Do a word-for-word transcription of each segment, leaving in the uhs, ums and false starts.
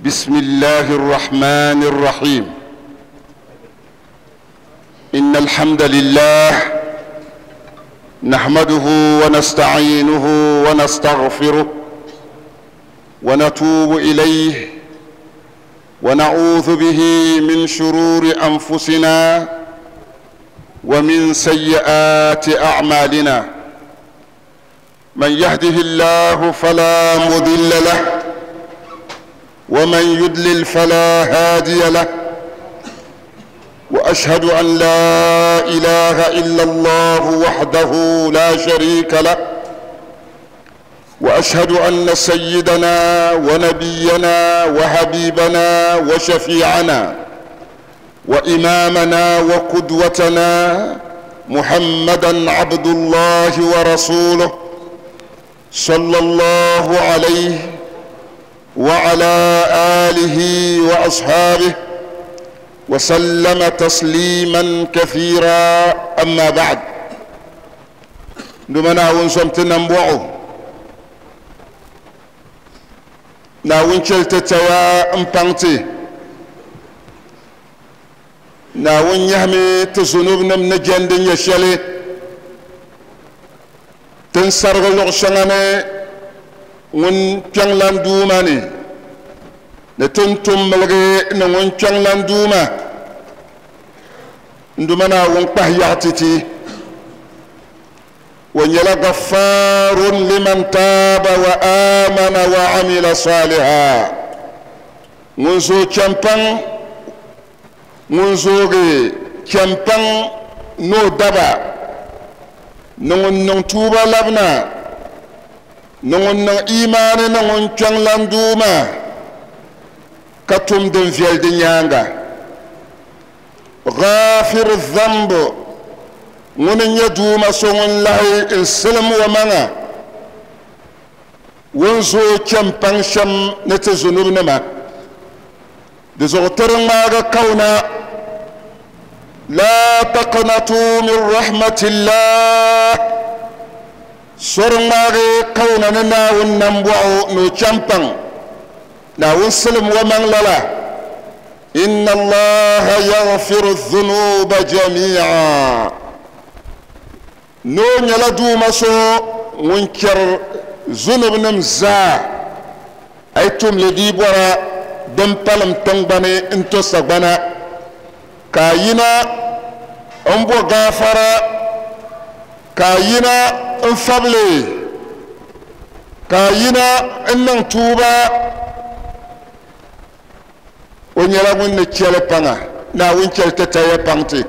بسم الله الرحمن الرحيم. إن الحمد لله نحمده ونستعينه ونستغفره ونتوب إليه ونعوذ به من شرور أنفسنا ومن سيئات أعمالنا. من يهده الله فلا مضل له ومن يضلل فلا هادي له، وأشهد أن لا إله إلا الله وحده لا شريك له، وأشهد أن سيدنا ونبينا وحبيبنا وشفيعنا وإمامنا وقدوتنا محمدا عبد الله ورسوله صلى الله عليه وعلى آله وأصحابه وسلم تسليما كثيرا. أما بعد، دمنا ونسمتنا نبوعه ناون شلتتوا امبانتي ناون يهمي تزنوبنا من جندن يشالي تنسرغ لغشاني ŋun kpiɔŋlan duuma ni ni tin tum miligi ni ŋun kpiɔŋlan duuma n duma Naawuni kpahi yaɣa ti ti o nyɛla gaffaarun liman taaba wa amana wa amila saliha, ŋun zooi chɛmpaŋ ŋun zoogi chɛmpaŋ ni o daba ni ŋun niŋ tuuba labina ni ŋun niŋ imaani ni ŋun kpiɔŋlan duuma ka tum din viɛli di nyaanga. Ghafir dhanb, ŋuni n-nyɛ duuma so ŋun lahi n silim o maŋa ŋun zooi chɛmpaŋ shɛm ni ti zunubnima di zuɣu tiri ŋmaagi kawuna la taqnatu min rahmatillah, sori ŋmaagi kawuna ni Naawuni nambɔɣu ni o chɛmpaŋ Naawuni silim o maŋ lala. Inna Allaha yaghfiru dhunuba jami'a, ni o nyɛla duuma so ŋun chɛri zunubnim zaa a yi tumli dii bɔra din palim tiŋgbani n to sagbana ka a yina n bo gaafara ka a yina n fabili ka a yina n niŋ tuuba o nyɛla ŋun ni chɛli paŋa Naawuni chɛli ti taya paŋ ti.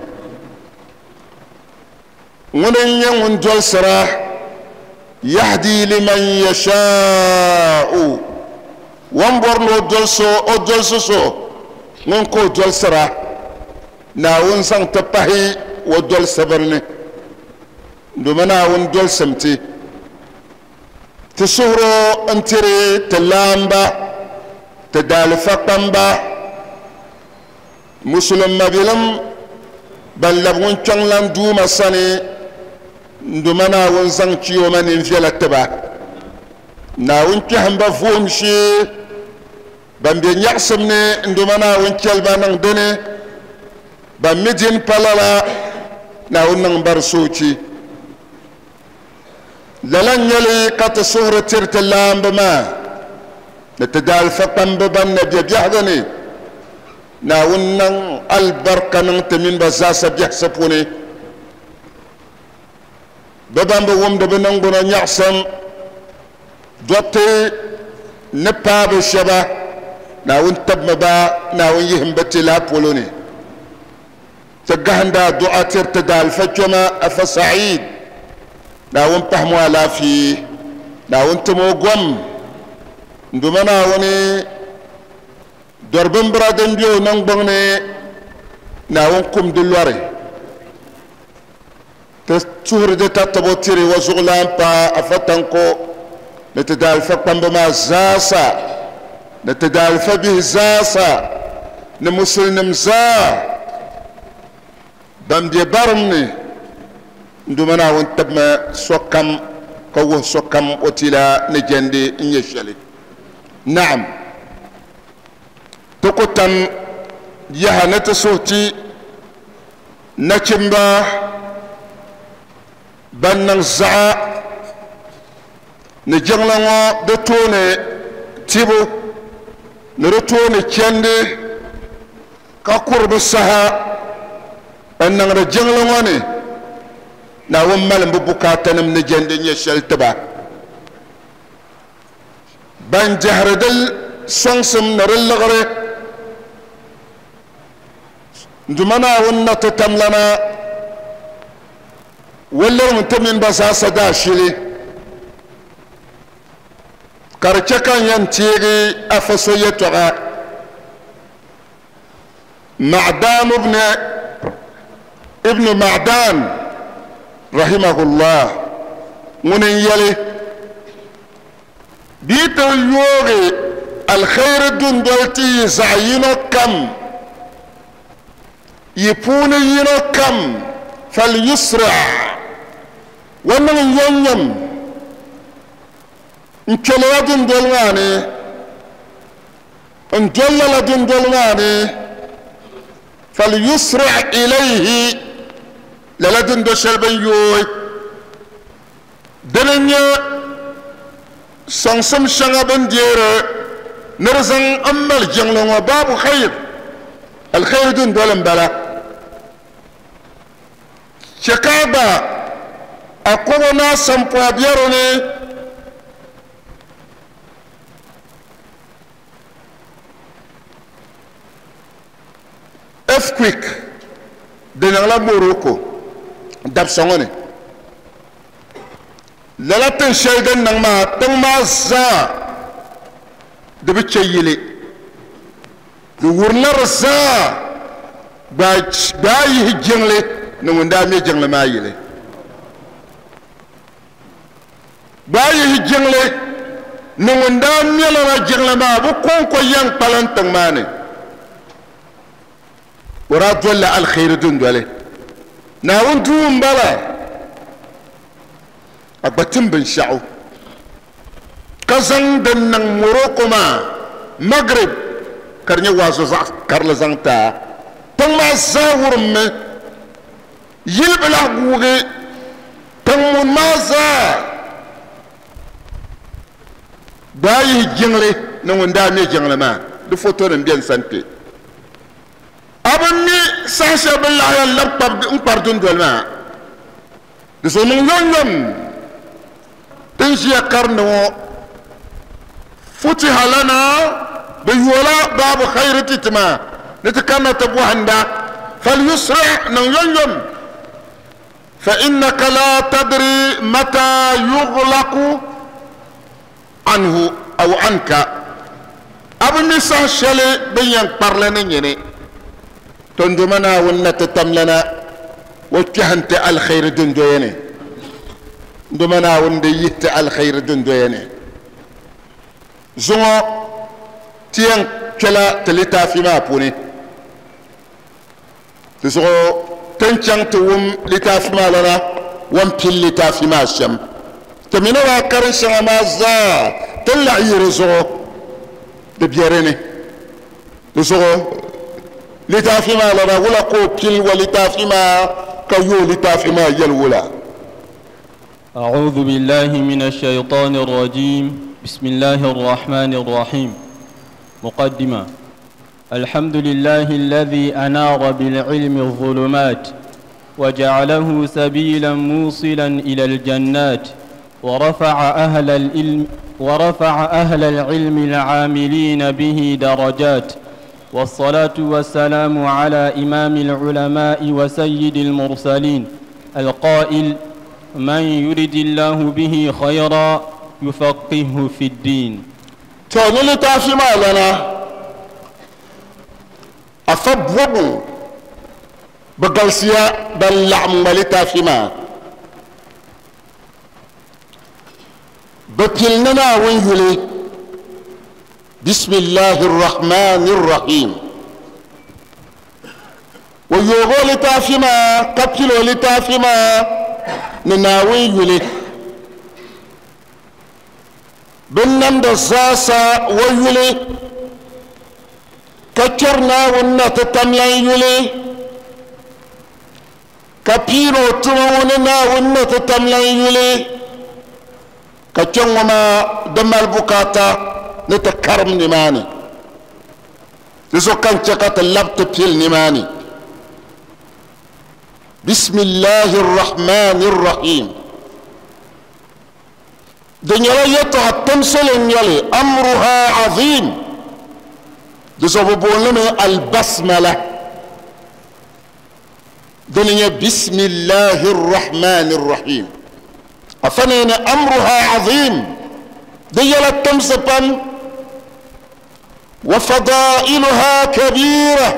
Ŋuni n-nyɛ ŋun dolisira yahdi liman yashaa'u, ŋun bɔri ni o dolisi o dolisi so ŋun ka o dolisira Naawuni zaŋ ti pahi o dolisibiri ni domi Naawuni dolisim ti ti suhuro n tiri ti laamba ti daalifa kpamba musulin mabilim ban labi ŋun kpiɔŋlan duuma sani nduma Naawuni zaŋ chiyo ma nin viɛla tiba Naawuni kpɛhimba vuhim shee ban be nyaɣasim ni nduma Naawuni chɛliba niŋ dini ban mi din pa lala Naawuni niŋ ba di soochi. Lala n-nyɛli ka ti suhuri tiri ti laamba maa ni ti daalifa kpamba ban na be biɛhigu ni Naawuni niŋ alibarika niŋ ti mini ba zaasa biɛhisi puuni. Bɛ ban bi wumdi bɛ niŋgbuna nyaɣasim dɔbti ni paai bi shɛba Naawuni tabimi ba Naawuni yihim bi ti lahi polo ni. Ti gahinda du'a tiri ti daalifa kpɛma Afa Said Naawuni pahimi o alaafee Naawuni tim o gom n duma Naawuni dɔri bimbira din be o niŋgbuŋ ni Naawuni kum di lɔri ti tuhiri di tatabo tiri o zuɣulan pa Afa Tanko ni ti daalifa kpamba maa zaasa ni ti daalifa bihi zaasa ni musulnim zaa ban be barim ni n duma Naawuni tabimi sokam ka wuhi sokam o tila ni jɛndi n nyɛ shɛli. Naam, Ti ku tam yaha ni ti suhi ti nachimba ban niŋ zaɣa ni jiŋli ŋɔ di tooni tibu ni di tooni chandi ka kuri bi saha n niŋdi jiŋli ŋɔ ni Naawuni malim bi bukaatanim ni jɛndi nyɛ shɛli tiba ban dɛhiri di sɔŋsim ni di liɣiri nduma Naawuni na ti tamlana walirimi ti mini ba zaasa daashili ka di chɛ ka n yɛn teegi afa so yɛtɔɣa Ma'dan ibn ibn Ma'dan rahimahullah ŋuni n yɛli bii ti yoogi alkhairi dundoli ti yi zaɣ yino kam yi puuni yino kam falyusra wa niŋ yomyom n kpɛlila dundoli maa ni n dolla la dundoli maa ni falyusra ilayhi lala dundo shɛli bin yooi dini n nyɛ sɔŋsim shɛŋa bin deeri ni di zaŋ n mali jiŋli ŋɔ baabu khayr alkhairi dundoli n bala chɛ ka a gba a kɔbo ni a sampɔɣa biɛri ni earthquake di niŋla Morocco dabisa ŋɔ ni lala tiŋ shɛli din niŋ maa tiŋ maa zaa di bi chɛ yili di wurila di zaa gbaa yihi jiŋli ni ŋun daa mɛ jiŋli maa yili gbaa yihi jiŋli ni ŋun daa mɛ lala jiŋli maa bi kɔŋko yɛn kpalim tiŋ maa ni o daa dolila alkhairi dundoli Naawuni duu n bala a gba tim binshaɣu ka zaŋ din niŋ Morocco maa Maghrib ka di nyɛ waazu zaɣ karili zaŋ taa tiŋ maa zaa wurimmi yili bi lahi guugi tiŋ ŋun maa zaa daa yihi jiŋli ni ŋun daa mɛ jiŋli maa di foto nim bɛ n sani kpɛ a bi mi saha shɛli bin lahi yɛn labi n kpari dundoli maa di so niŋ yomyom tin ʒiya karindi ŋɔ futiha lana bi yoola baabu khayri ti ti maa ni ti kanna ti bɔhinda falyusri niŋ yomyom fa innaka la tadri mata yughlaqu anhu aw anka a bi mi saha shɛli bin yɛn kparili ni nyini tondoma Naawuni na ti tamlana o kpɛhi ti alkhairi dundoya ni ndoma Naawuni di yihi ti alkhairi dundoya ni zuŋɔ ti yɛn kpɛla ti litaafi maa puuni di zuɣu tin chaŋ ti wum litaafi maa lana wan pili litaafi maa shɛm ti mi ni daa karin shɛŋa maa zaa ti laɣi yi di zuɣu di bɛ dini di zuɣu litaafi maa lana wula ka o pili wa litaafi maa ka yooi litaafi maa yɛli wula. أعوذ بالله من الشيطان الرجيم بسم الله الرحمن الرحيم مقدمة الحمد لله الذي أنار بالعلم الظلمات وجعله سبيلا موصلا إلى الجنات ورفع أهل العلم ورفع أهل العلم العاملين به درجات والصلاة والسلام على إمام العلماء وسيد المرسلين القائل من يرد الله به خيرا يفقهه في الدين. To ni litaafi maa lana afa bɔbu bi galisiya ban laɣim ŋma litaafi maa bi pili ni Naawuni yuli bisimillahi rrahmani rrahim o yoogi o litaafi maa ka pili o litaafi maa ni Naawuni yuli bin namda zaasa o yuli Ka kpɛri Naawuni na ti tamlan yuli ka piiri o tuma ŋɔ ni Naawuni na ti tamlan yuli ka kpɛŋ ŋɔ maa di mali bukaata ni ti karim nimaani di zuɣu ka n chɛ ka ti labi ti pili nimaani. Bisimillahi rrahmani rrahim di nyɛla yɛltɔɣa timsili n nyɛli amruha azim di zuɣu bi boonimi albasmala dini nyɛ bisimillahi rrahmani rrahim afa ni amruha azim di yɛla timsi pam wa fadailuha kabira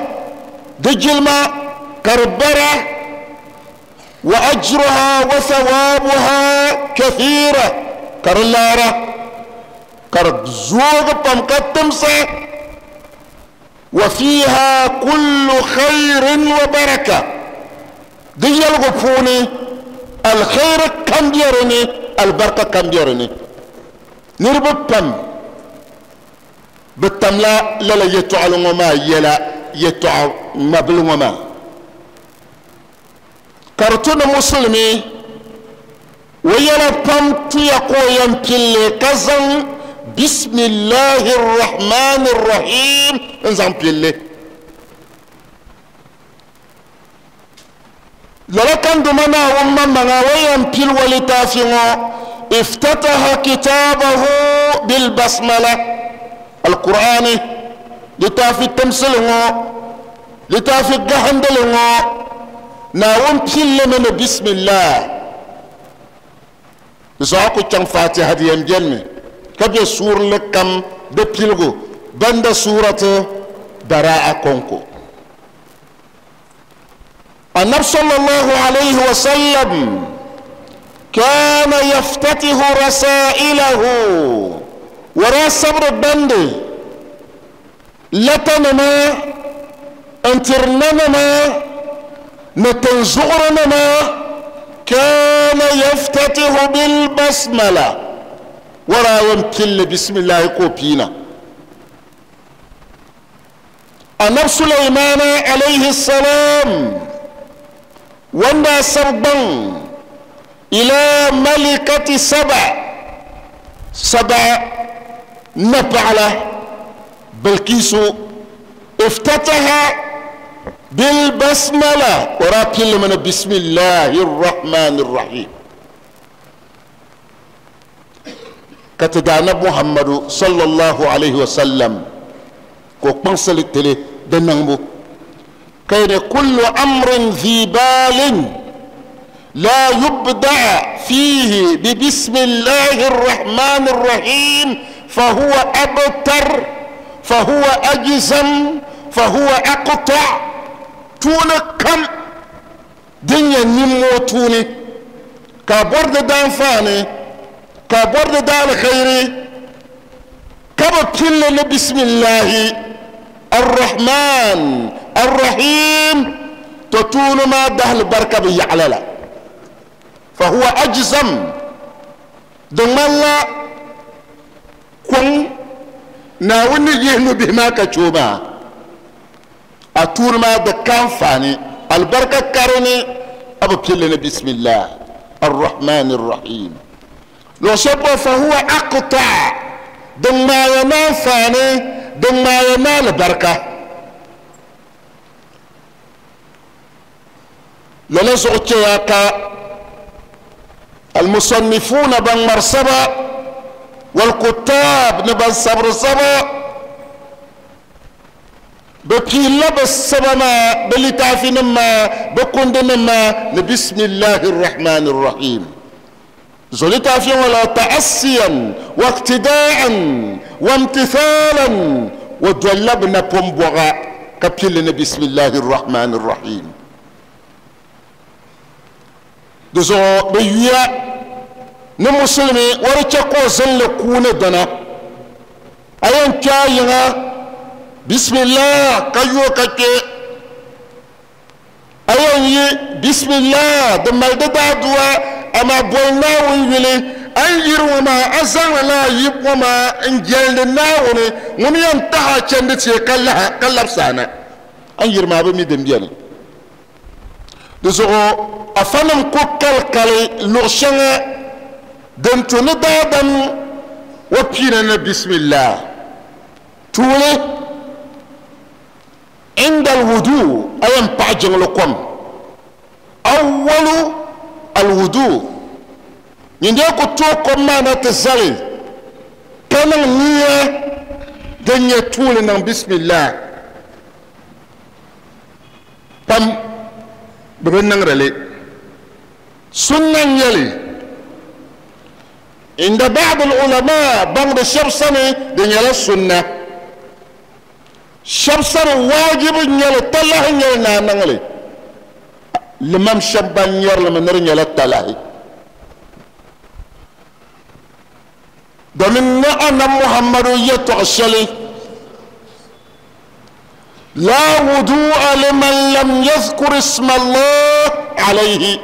di jilma ka di bara wa ajruha wa thawabuha kathira ka di laara ka di zoogi pam ka timsa wa fiha kullu khayrin wa baraka di yɛligu puuni alkhairi kam bɛ dini albarka kam bɛ dini niriba pam bi tamla lala yɛltɔɣali ŋɔ maa yɛla yɛltɔɣa ŋmabili ŋɔ maa ka di tu ni musulimi o yɛla pam tuya ka o yɛn pilli ka zaŋ bisimillahi rrahmani rrahim n zaŋ pilli lala kan duma Naawuni maŋmaŋa o yɛn pili o litaafi ŋɔ iftataha kitaabahu bilbasmala alqur'ani litaafi timsili ŋɔ litaafi gahindili ŋɔ Naawuni pillimi ni bismillah di zuɣu a ku chaŋ fatiha di yɛn benimi ka be suurili kam di piligu banda suurati bara'a konko. Annabi sallallahu alayhi wa sallam kana yaftatihu rasailahu wara sabri bandi latanima n-tirinanima ni tinzuɣurinima kana yaftatihu bilbasmala wara yɛn pilli bisimillahi ka o piina. Annabi Sulaimana alayhi salam wanda sabgbaŋ ila malikati saba saba napaɣala Bilkisu iftataha bilbasmala wara pillimi ni bisimillahi rrahmani rrahim ka ti daa Annabi Muhammadu sallallahu alayhi wa sallam ka o kpaŋsili tili di niŋbu ka yɛli kullu amrin dhi balin la yubda fihi bi bisimillahi rrahmani rrahim fahuwa abtar fahuwa ajzam fahuwa aqta tuuni kam din nyɛ nimmoo tuuni ka bɔri di daanfaani ka bɔri di daalkhairi ka bi pilli ni bisimillahi arrahman arrahim to tuuni maa dahali barika bi yaɣala la fahuwa ajzam di ŋmanila kɔŋ Naawuni ni yihi nubihi maa ka che o maa a tuuni maa di ka anfaani albarka karini a bi pilli ni bismillah arrahmani rrahim luɣu shɛli polo fahuwa aqta di ŋmaaya na anfaani di ŋmaaya na alibarika lala zuɣu chɛya ka almusannifuna ban ŋmari saba walkutab ni ban sabiri saba bi piila bi saba maa bi litaafi nim maa bi kundi nim maa ni bisimillahi rrahmani rrahim zo litaafi ŋɔ la ta'assiyan wa iqtida'an wa imtithalan wa dolila bi napɔŋ bɔga ka pilli ni bisimillahi rrahmani rrahim di zuɣu bi yuya ni musulimi wari chɛ ka o zinli kuuni dina a yɛn kpɛ a yiŋa bismillah ka yo ka kpɛ a yɛn yi bismillah di mali di daaduwa amaa boli Naawuni yuli an yiri ŋɔ maa a zaŋla laa yib ŋɔ maa n jɛldi naawuni ŋuni yɛn taha chɛndi tie ka laha ka labisa na an yiri maa bi mi din biɛni di zuɣu afanim ku kalikali luɣu shɛŋa din tu ni daadam wa piina ni bismillah tuuli عند الوضوء أيام بعجن لكم أول الوضوء ينديكو توكم ما نتزالي كان النية دنيا طولنا بسم الله بام ببنن رلي سنة يلي عند بعض العلماء بعض الشبسنة دنيا السنة شبسر واجب يلي تله يلي نانغلي لمام شبان يرلي من يلي تله domin na annan muhammadu ya toshali la wudu'a liman lam yadhkur isma Allah alayhi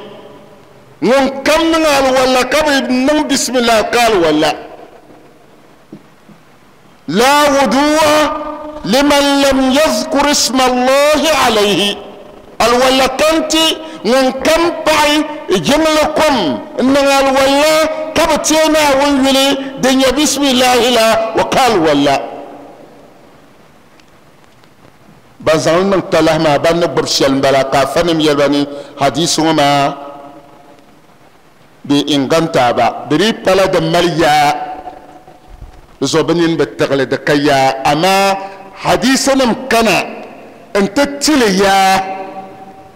ŋun kam niŋ alwala ka bi niŋ bismillah ka alwala la wudu'a liman lam yadhkur isma Allah alayhi alwala kanti ŋun kam paɣi jiŋli kom n niŋ alwala ka bi teei Naawuni yuli din nyɛ bisimilahi la wa ka alwala ban zaŋli niŋ talahi maa ban ni gbubi shɛli n bala ka afanim yɛli ba ni hadisi ŋɔ maa bi inganta ba di dii pala din mali yaa di zuɣu bi nini bi tiɣili di ka yaa amaa hadisi nim kana n ti tili yaa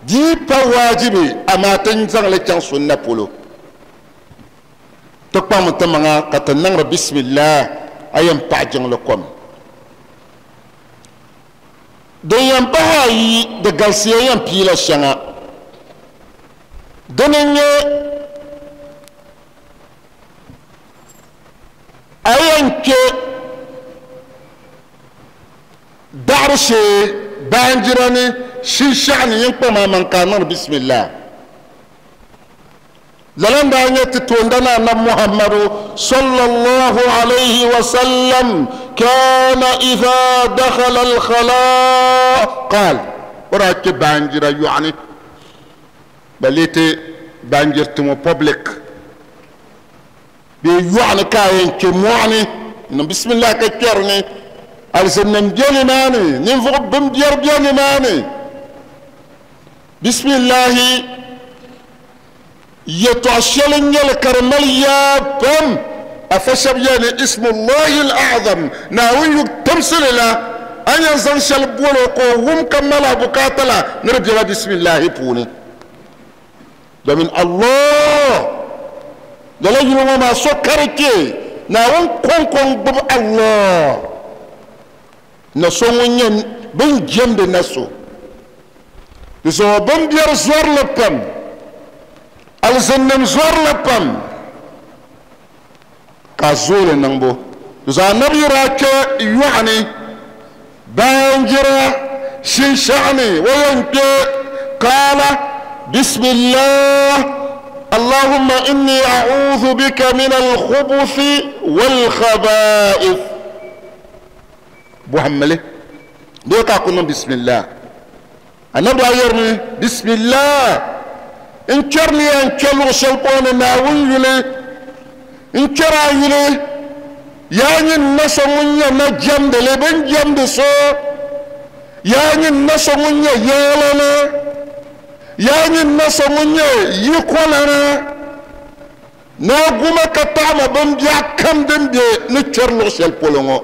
dii pa waajibi amaa ti zaŋli chaŋ sunna polo ti kpaŋmi ti maŋa ka ti niŋdi bisimilah a yɛn paɣi jiŋli kom din yɛn pahi ayi di galisiya yɛn piila shɛŋa dini n nyɛ a yɛn kpɛ daɣari shee baanjira ni shinshaɣu ni yɛn kpaŋ maa maŋ ka a niŋdi bisimilah لن دعني تتوندنا أن محمد صلى الله عليه وسلم كان إذا دخل الخلاء قال وراك بانجرا يعني بليتي بانجر تمو بابليك بيعني كاين كموعني إنه بسم الله كتيرني أرسلنا مجاني ماني ننفق بمدير بياني ماني بسم الله يتعشلن يلكرمل يا بم أفشب يعني اسم الله الأعظم ناوي تمثل لا أن ينزل شلبولو قوم كمالا بكاتلا نرجع بسم الله بوني ده من الله ده لا يلوم ما سكرتي ناوي كون كون بب الله نسون ين بن جنب نسو بسوا بن بير زور لبم alzinnim zɔrili pam ka zooli niŋbu zuɣu anabi yira kpɛ yoɣani baanjira shinshaɣani o yɛn kpɛ qaala bismillah allahumma inni a'udhu bika min alkhubuthi walkhaba'ith bɔhammili doo ka ku niŋ bismillah anabi daa yɛrimi bismillah n kpɛri ya n kpɛ luɣu shɛli polo ni naawuni yuli n kpɛri a yuli yaa nyin na so ŋun nyɛ na jɛmdili bin jɛmdi so yaa nyin na so ŋun nyɛ yɛlani yaa nyin na so ŋun nyɛ yikolana naa guma ka taɣama binbiɛɣu kam din bɛ ni kpɛri luɣu shɛli polo ŋɔ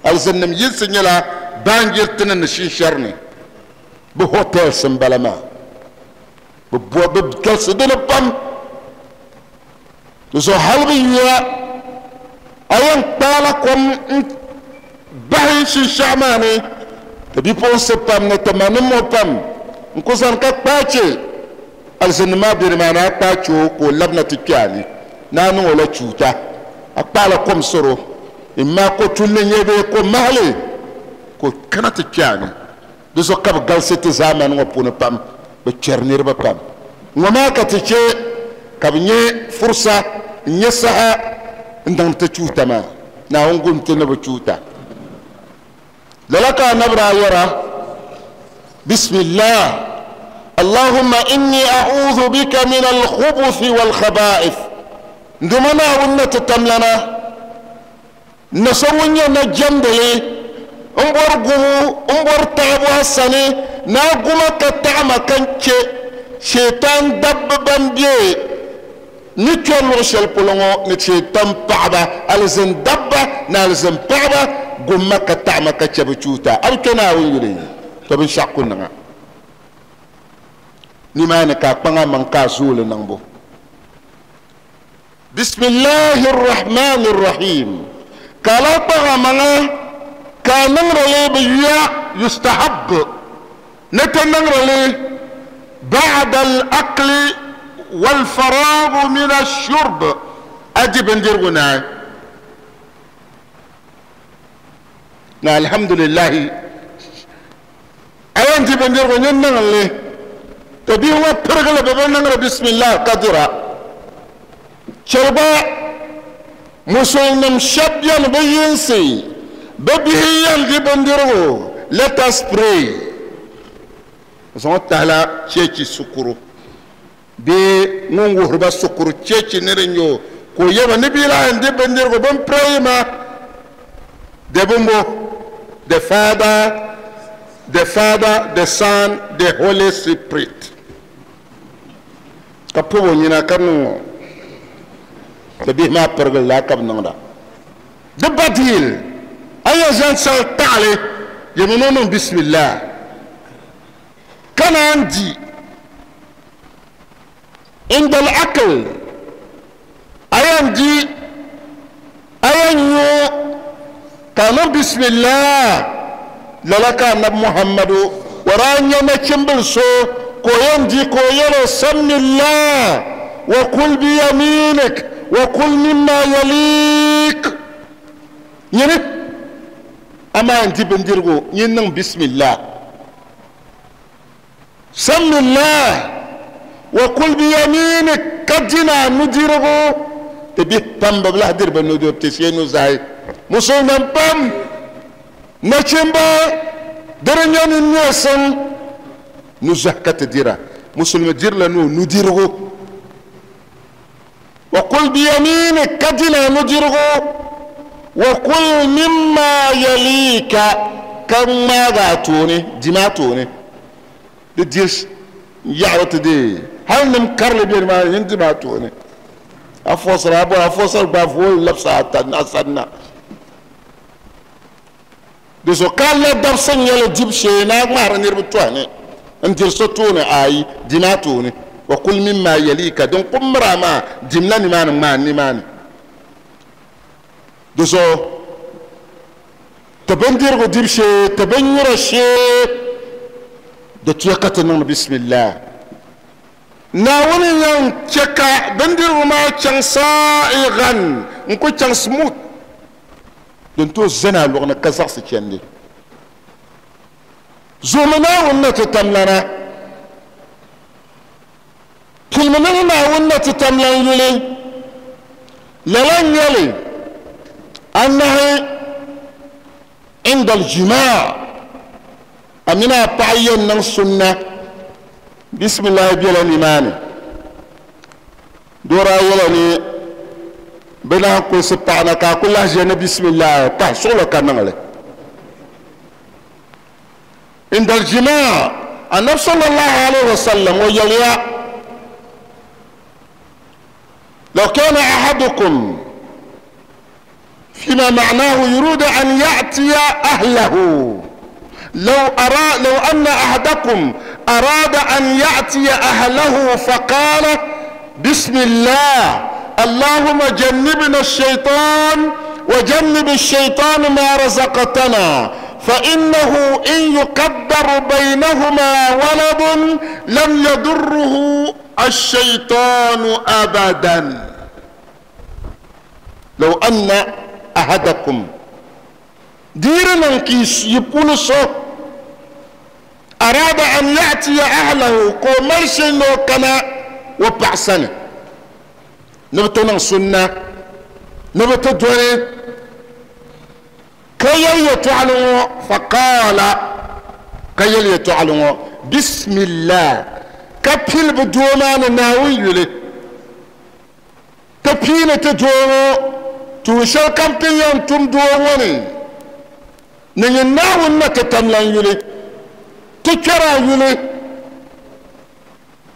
alizinnim yinsi nyɛla baanjiriti ni ni shinshɛri ni bi hotels n bala maa bi galisi dini pam di zuɣu hali bi yuya a yɛn kpaala kom n bahi shinshaɣu maa ni ti bipuɣunsi pam ni ti ma ni mo pam n ku zani ka kpaache alizini maa bɛ nimaa ni a kpaache o ka o labina ti kpɛ a ni ni a niŋ o la chuuta a kpaala kom soro imma ko tulli nyɛ bee ko mahali ka o kana ti kpɛ a ni di zuɣu ka bi galisi ti zaamani ŋɔ puuni pam bi kpɛri niriba pam ŋɔ maa ka ti chɛ ka bi nyɛ fursa N-nyɛ saha n-daŋ ti chuuta maa. Naawuni gum ti ni bi chuuta. Lala ka anabi daa yɛra, bismillah allahumma inni a'udhu bika min al-khubuthi wal-khaba'ith. Nduma Naawuni na ti tamlana na so ŋun nyɛ na jɛmdili n bɔri gubu n bɔri taɣabu a sani na a guma ka taɣama ka n chɛ shaitan dabba ban bɛ ni kpɛ luɣu shɛli polo ŋɔ ni shaitan paɣaba alizin dabba ni alizin paɣaba gumma ka taɣama ka chɛ bi chuuta a bi kpɛ Naawuni yuli to binshaɣu ku niŋa nimaani ka a kpaŋa maŋ ka a zooli niŋbu. Bismillahi rrahmani rrahim ka a lahi kpaŋa maŋa ka a niŋdili bi yuya yustahab ni ti niŋdili ba'da al-akli wal-faragh min ash-shurb a di bindirigu naai na alhamdulillahi a yɛn di bindirigu nyin niŋli to bihi ŋɔ pirigili bi bi niŋdi bismillah ka dira. Chɛliba musulnim shɛba bɛni bi yinsi bi bihi yɛn di bindirigu let us pray zaŋ tahila cheechi sukuru bee ŋun wuhiriba sukuru cheechi ni di nyɛ o ka o yɛba ni bia lahi di bindirigu bin pray ma the bimbo the Father the Father the Son the Holy Spirit ka pobi o nyina ka niŋ ŋɔ ti bihi maa pirigili laa ka bi niŋda di badil a yɛn zaŋ sal taɣali yɛmi ni o niŋ bismillah ka naan di inda al-akl a yɛn di a yɛn nyu ka niŋ bismillah lala ka anabi Muhammadu o daa nyɛ nachimbili so ka o yɛn di ka o yɛli samillah wa kul biyaminik wa kul mimma yalik nyini amaa n di bindirigu nyin niŋ bismillah samillah wa kul biyaminik ka dina nudirigu ti bihi pam bi lahi diri bi nudirigu ti shee nuzahi musulman pam nachimba diri nyɛ ni neesim nuzahi ka ti dira musulmi dirila ni o nudirigu wa kul biyaminik ka dina nudirigu wa kul mimma yalika ka ŋmaaga a tooni dima a tooni di diri yaɣari ti dee hali nim karili bɛ nimaani yin dima a tooni a fɔsira a bɔra a fɔsiri gba vooli labisa a sanna di so ka la dabisi nyɛli dibu shee ni a ŋmahari niriba tɔhi ni n diri so tooni ayi dima a tooni wa kul mimma yalika din ku mira maa dimla nimaani ŋmaa nimaani di so ti bindirigu dibu shee ti binnyura shee di tuya ka ti niŋdi bismillah Naawuni yɛn chɛ ka bindirigu maa chaŋ saa'igan n ku chaŋ smooth din tooi zani a luɣuni ka zaɣisi chɛndi zuɣumi Naawuni na ti tamlana pilimi ni Naawuni na ti tamlan yuli lala n nyɛli anahi inda al-jimaa a mini a paɣa yɛn niŋ sunna bisimilahi bɛla nimaani doo daa yɛla ni bi lahi kulisi paɣa na ka a ku lahi ʒiya ni bisimilahi pahi suɣulo ka niŋli inda al-jimaa anabi sallallahu alayhi wa sallam o yɛliya law kana ahadukum فيما معناه يريد أن يأتي أهله لو أرى لو أن أحدكم أراد أن يأتي أهله فقال بسم الله اللهم جنبنا الشيطان وجنب الشيطان ما رزقتنا فإنه إن يقدر بينهما ولد لم يضره الشيطان أبدا. لو أن أحدكم ديرنا كيس يقول صو أراد أن يأتي أهله كومرشن كما وبعسنة Ni bi ti niŋ sunna ni bi ti doli ka yɛli yɛltɔɣali ŋɔ faqaala ka yɛli yɛltɔɣali ŋɔ bismillah ka pili bi doo maa ni Naawuni yuli ti piini ti doo ŋɔ tuun shɛli kam ti yɛn tum doo ŋɔ ni ni nyin Naawuni na ti tamlan yuli ti kpɛra yuli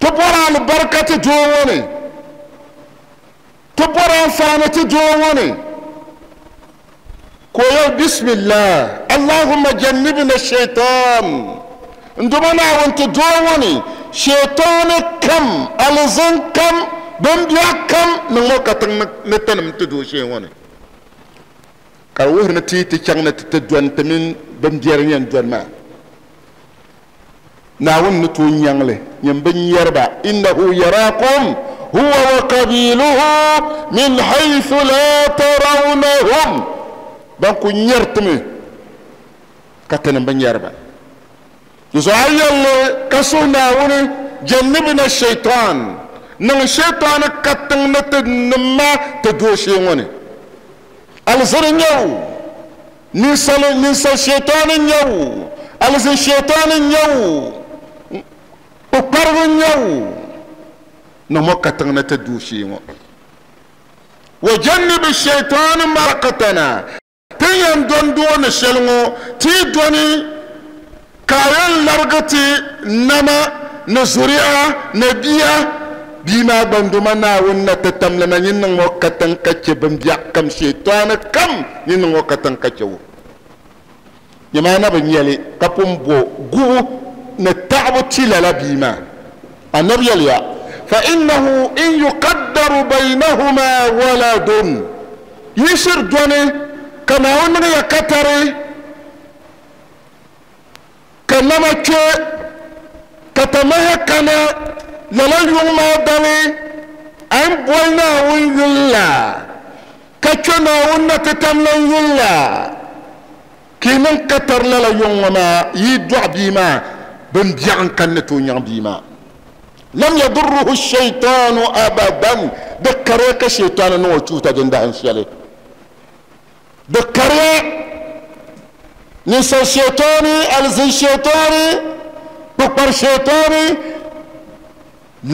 ti bɔra alibarika ti doo ŋɔ ni ti bɔra anfaani ti doo ŋɔ ni ko yɛli bismillah allahumma jannibna shaitan n duma Naawuni ti doo ŋɔ ni shaitani kam alizin kam bimbiɛɣu kam niŋ ŋɔ katiŋ ni tinim ti doo shee ŋɔ ni ka di wuhiri ni ti ti chaŋ ni ti ti dɔni ti mini bimbiɛri yɛn dɔni maa Naawuni ni tooi nyaŋli nyin bi nyɛriba innahu yarakum huwa wa qabiluhu min haythu la tarawnahum ban ku nyɛri timi ka tinim bi nyɛriba di zuɣu a yɛlli ka suhi Naawuni jannibna shaitan niŋ shaitani katiŋ ni ti nimma ti doo shee ŋɔ ni alizini nyɛ o ninsal ninsal shaitani nyɛ o alizin shaitani nyɛ o kpukparigu nyɛ o niŋ mo katiŋ ni ti doo shee ŋɔ wa jannibi shaitani ma razaqtana ti yɛn dɔn doo ni shɛli ŋɔ ti dɔni ka a yɛn larigi ti nama ni zuriya ni bia bia maa gba n-duma Naawuni na ti tamlima nyin niŋ ŋɔ katiŋ ka che bimbiɛɣu kam shaitani kam nyin niŋ ŋɔ katiŋ ka che o nyɛmaa na bi nyɛli ka pun bo gubu ni taɣabu ti lala bia maa annabi yɛliya fa innahu in yuqaddaru baynahuma waladun yi shiri dɔni ka Naawuni niŋ ya katari ka nama kpe ka tamaha kana lala yuŋ maa dali a ni boli Naawuni yuli la ka kpe Naawuni na ti tamlan yuli la ka yi niŋ katari lala yuŋ ŋɔ maa yi dɔɣi bia maa bimbiɛɣu n kani ni tooi nyaŋ bia maa lam yadurruhu shaitanu abadan di kariya ka shaitani niŋ o chuuta din dahin shɛli di kariya ninsal shaitani alizin shaitani kpukpari shaitani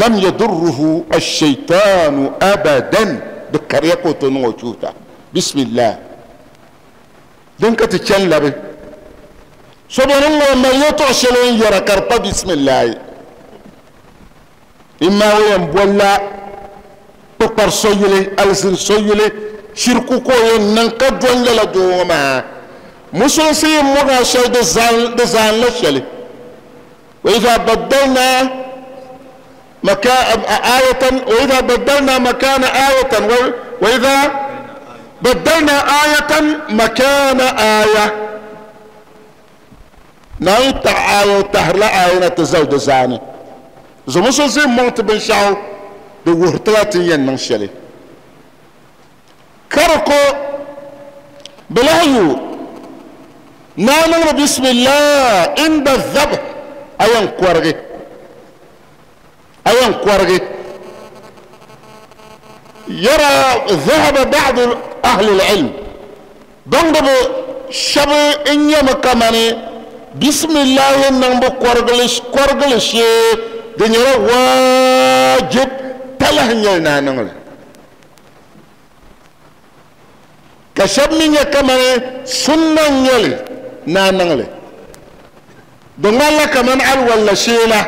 lam yadurruhu ashaitanu abadan di kariya ka o tooi niŋ o chuuta bismillah din ka ti chani labi so beni ŋɔ mali yɛltɔɣa shɛli n yɛra ka di pa bismillahi imma o yɛn bolila kpukpari so yuli alizin so yuli shirku ka o yɛn niŋ ka dɔni lala doo ŋɔ maa musulinsi yi muɣa shɛli di zaanla shɛli wa idha baddalna مكان آية وإذا بدلنا مكان آية وإذا بدلنا آية مكان آية نعيد آية تهرلا آية تزود زاني زموسو زي مونت بن شاو دو ورتلاتين ين نشلي كركو بلايو نانو بسم الله عند الذبح أيان كورغي أيان كورغي يرى ذهب بعض أهل العلم بانغبو شب إن يمكماني بسم الله نانبو كورغلش كورغلش دنيا واجب تلهن نانغل كشب من يكماني سنة يلي نانغل دنگالا كمان الولا شيلا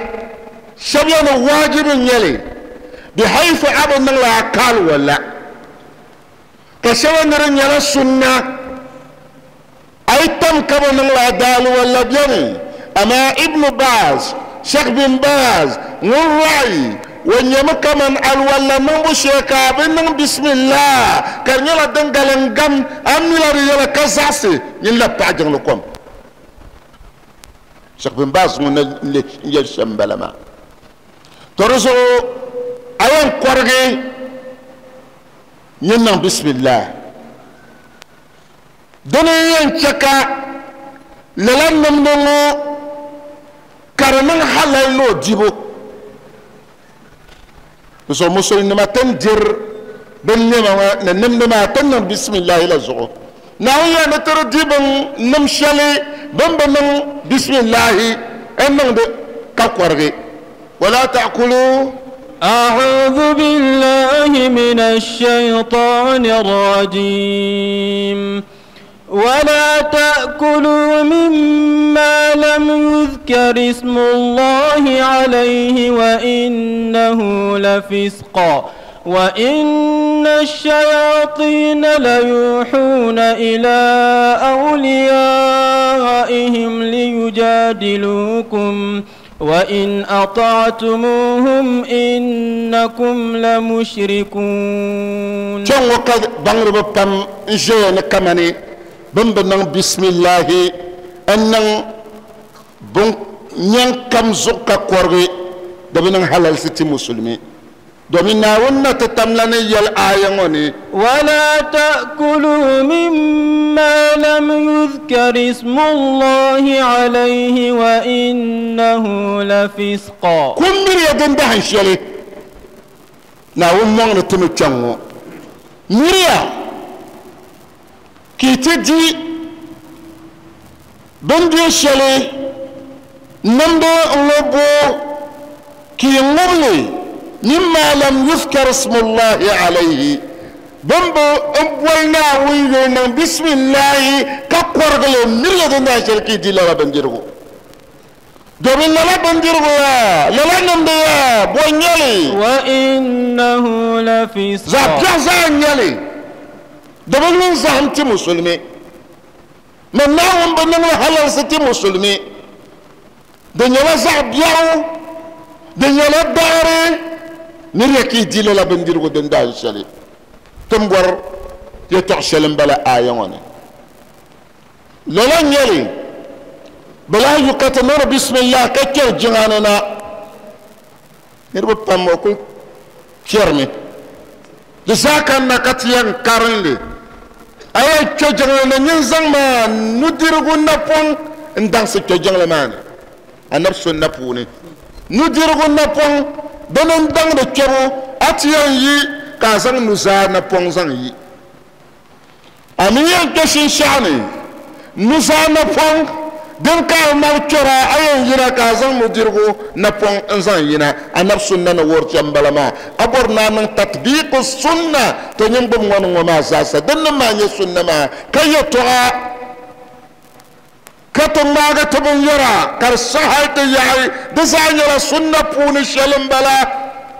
شبيان واجب يلي بحيث أبو نغلا قال ولا كشبيان رنيالا سنة أي تم كبو نغلا دال ولا بياني أما ابن باز شيخ بن باز نور رأي ونيما كمان الولا نمبو شيكا بنن بسم الله كرنيالا دنگالنگم أميلا ريالا كزاسي يلا باجن لكم شيخ بن باز من يل شمبلما ترزو أيان قرغي ينن بسم الله دنيا ينشكا للن نمنو كرمن حلال نو جيبو بسو مسلم نما تنجر bin nɛma ni nimdi maa ti niŋ bisimilahi la zuɣu naawuni yaa ni ti di di bin nim shɛli bin bi niŋ bisimilahi n niŋdi ka kɔrigi wala ta'kulu. أعوذ بالله من الشيطان الرجيم ولا تأكلوا مما لم يذكر اسم الله عليه وإنه لفسق وإن الشياطين ليوحون إلى أوليائهم ليجادلوكم وإن أطعتموهم إنكم لمشركون. كان وقد بانغرب بام جين كماني بن بن بسم الله أن بن نين كم زكا كورغي دبن حلال ستي مسلمي domin naawuni ti tamla ni yɛli aaya ŋɔ ni ولا تأكلوا مما لم يذكر اسم الله عليه وإنه لفسق. Kun miriya din dahin shɛli naawuni mɔŋ ni timi kpɛŋ ŋɔ miriya ka yi ti di bindiri shɛli nimdi n-ŋɔ bo ka yi ŋubili مما لم يذكر اسم الله عليه بمبو امبولنا ويلنا بسم الله كقرغل مريد ناشر كي دي لا بنديرغو دومين لا بنديرغو لا لا نمبيا بونيالي وانه لفسق زابيا زانيالي دومين زانتي مسلمي من ناوم بنن حلال ستي مسلمي دنيا زابيا دنيا لا داري niriya ka yi di lala bindirigu din dahin shɛli ti ni bɔri yɛltɔɣa shɛli n bala aaya ŋɔ ni lala n nyɛli bi lahi yu ka ti niŋdi bisimilah ka kpɛri jiŋa ni na niriba pam o kuli kpɛrimi di zaa kanna ka ti yɛn karinli a yɛn kpɛ jiŋli ni nyin zaŋ maa nudirigu napɔŋ n daŋsi kpɛ jiŋli maa ni anabi sunna puuni nudirigu napɔŋ dini n daŋdi kpɛbu a ti yɛn yi ka a zaŋ nuzaa napɔŋ zaŋ yi a mi yɛn kpɛ shinshaɣu ni nuzaa napɔŋ din ka a mali kpɛra a yɛn yina ka a zaŋ nudirigu napɔŋ n zaŋ yina anabi sunna ni wuhiri chɛm bala maa a bɔri ni a niŋ tatbiiku sunna to nyin gbubi ŋɔ ni ŋɔ maa zaasa din nim maa nyɛ sunna maa ka yɛltɔɣa ka ti ŋmaagi ti binyɛra ka di saɣi hali ti yaɣi di zaa nyɛla sunna puuni shɛli n bala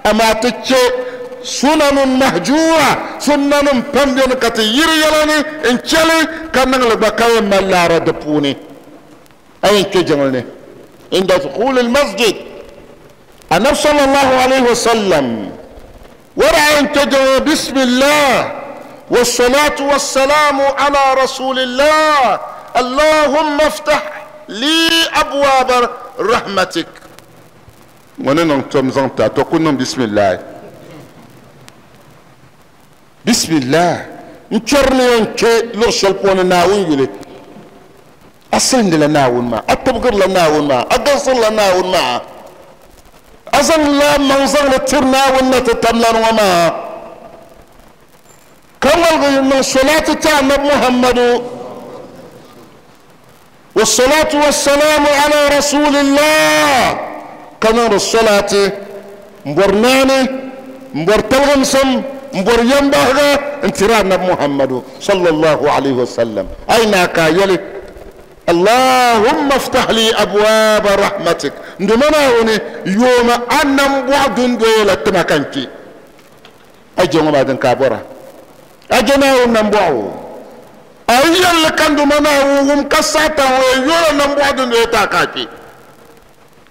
amaa ti chɛ sunanun mahjura sunnanim pam beni ka ti yiri yɛla ni n chɛli ka niŋli gba ka yɛn mali laara di puuni a yɛn kpɛ jiŋli ni inda dukhuli lmasjid annabi sallallahu alayhi wa sallam wara a yɛn kpɛ jiŋli bismillah wassalatu wassalamu ala rasulillah اللهم افتح لي ابواب رحمتك ونن توم زانتا تكون بسم الله بسم الله نشرني انك لو شلبون ناوين يلي اصلا لا ناون ما اتبغر لا ناون ما اقصر لا ناون ما اصلا لا منظر لترنا ونتتملن وما كما من صلاة تعمل محمد والصلاة والسلام على رسول الله كما الصلاة مبرناني مبرتلغمسم مبر ينبغى انترانا محمد صلى الله عليه وسلم أين كايلي اللهم افتح لي أبواب رحمتك ندمنا هوني يوم أن مبعد دولة تمكنتي أجي ما دن كابورا أجي نمبعو أيان لكان دمنا وهم كساتا ويولا نمبعد دولة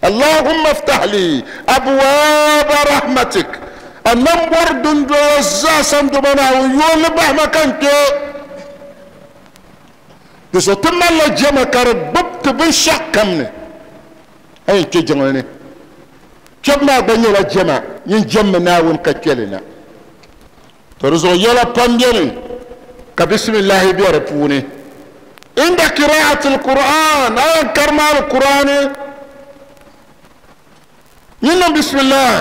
اللهم افتح لي أبواب رحمتك النمبر دون دوزا دمنا ويولا بحمكنتي دسو تمالا جما كارب ببت بنشاق كمني أي كي جمعني كما بني لا جما ين ناون كتلنا ترزو يلا بامبيني كبسم الله بيربوني عند قراءة القرآن أي كرم القرآن ين بسم الله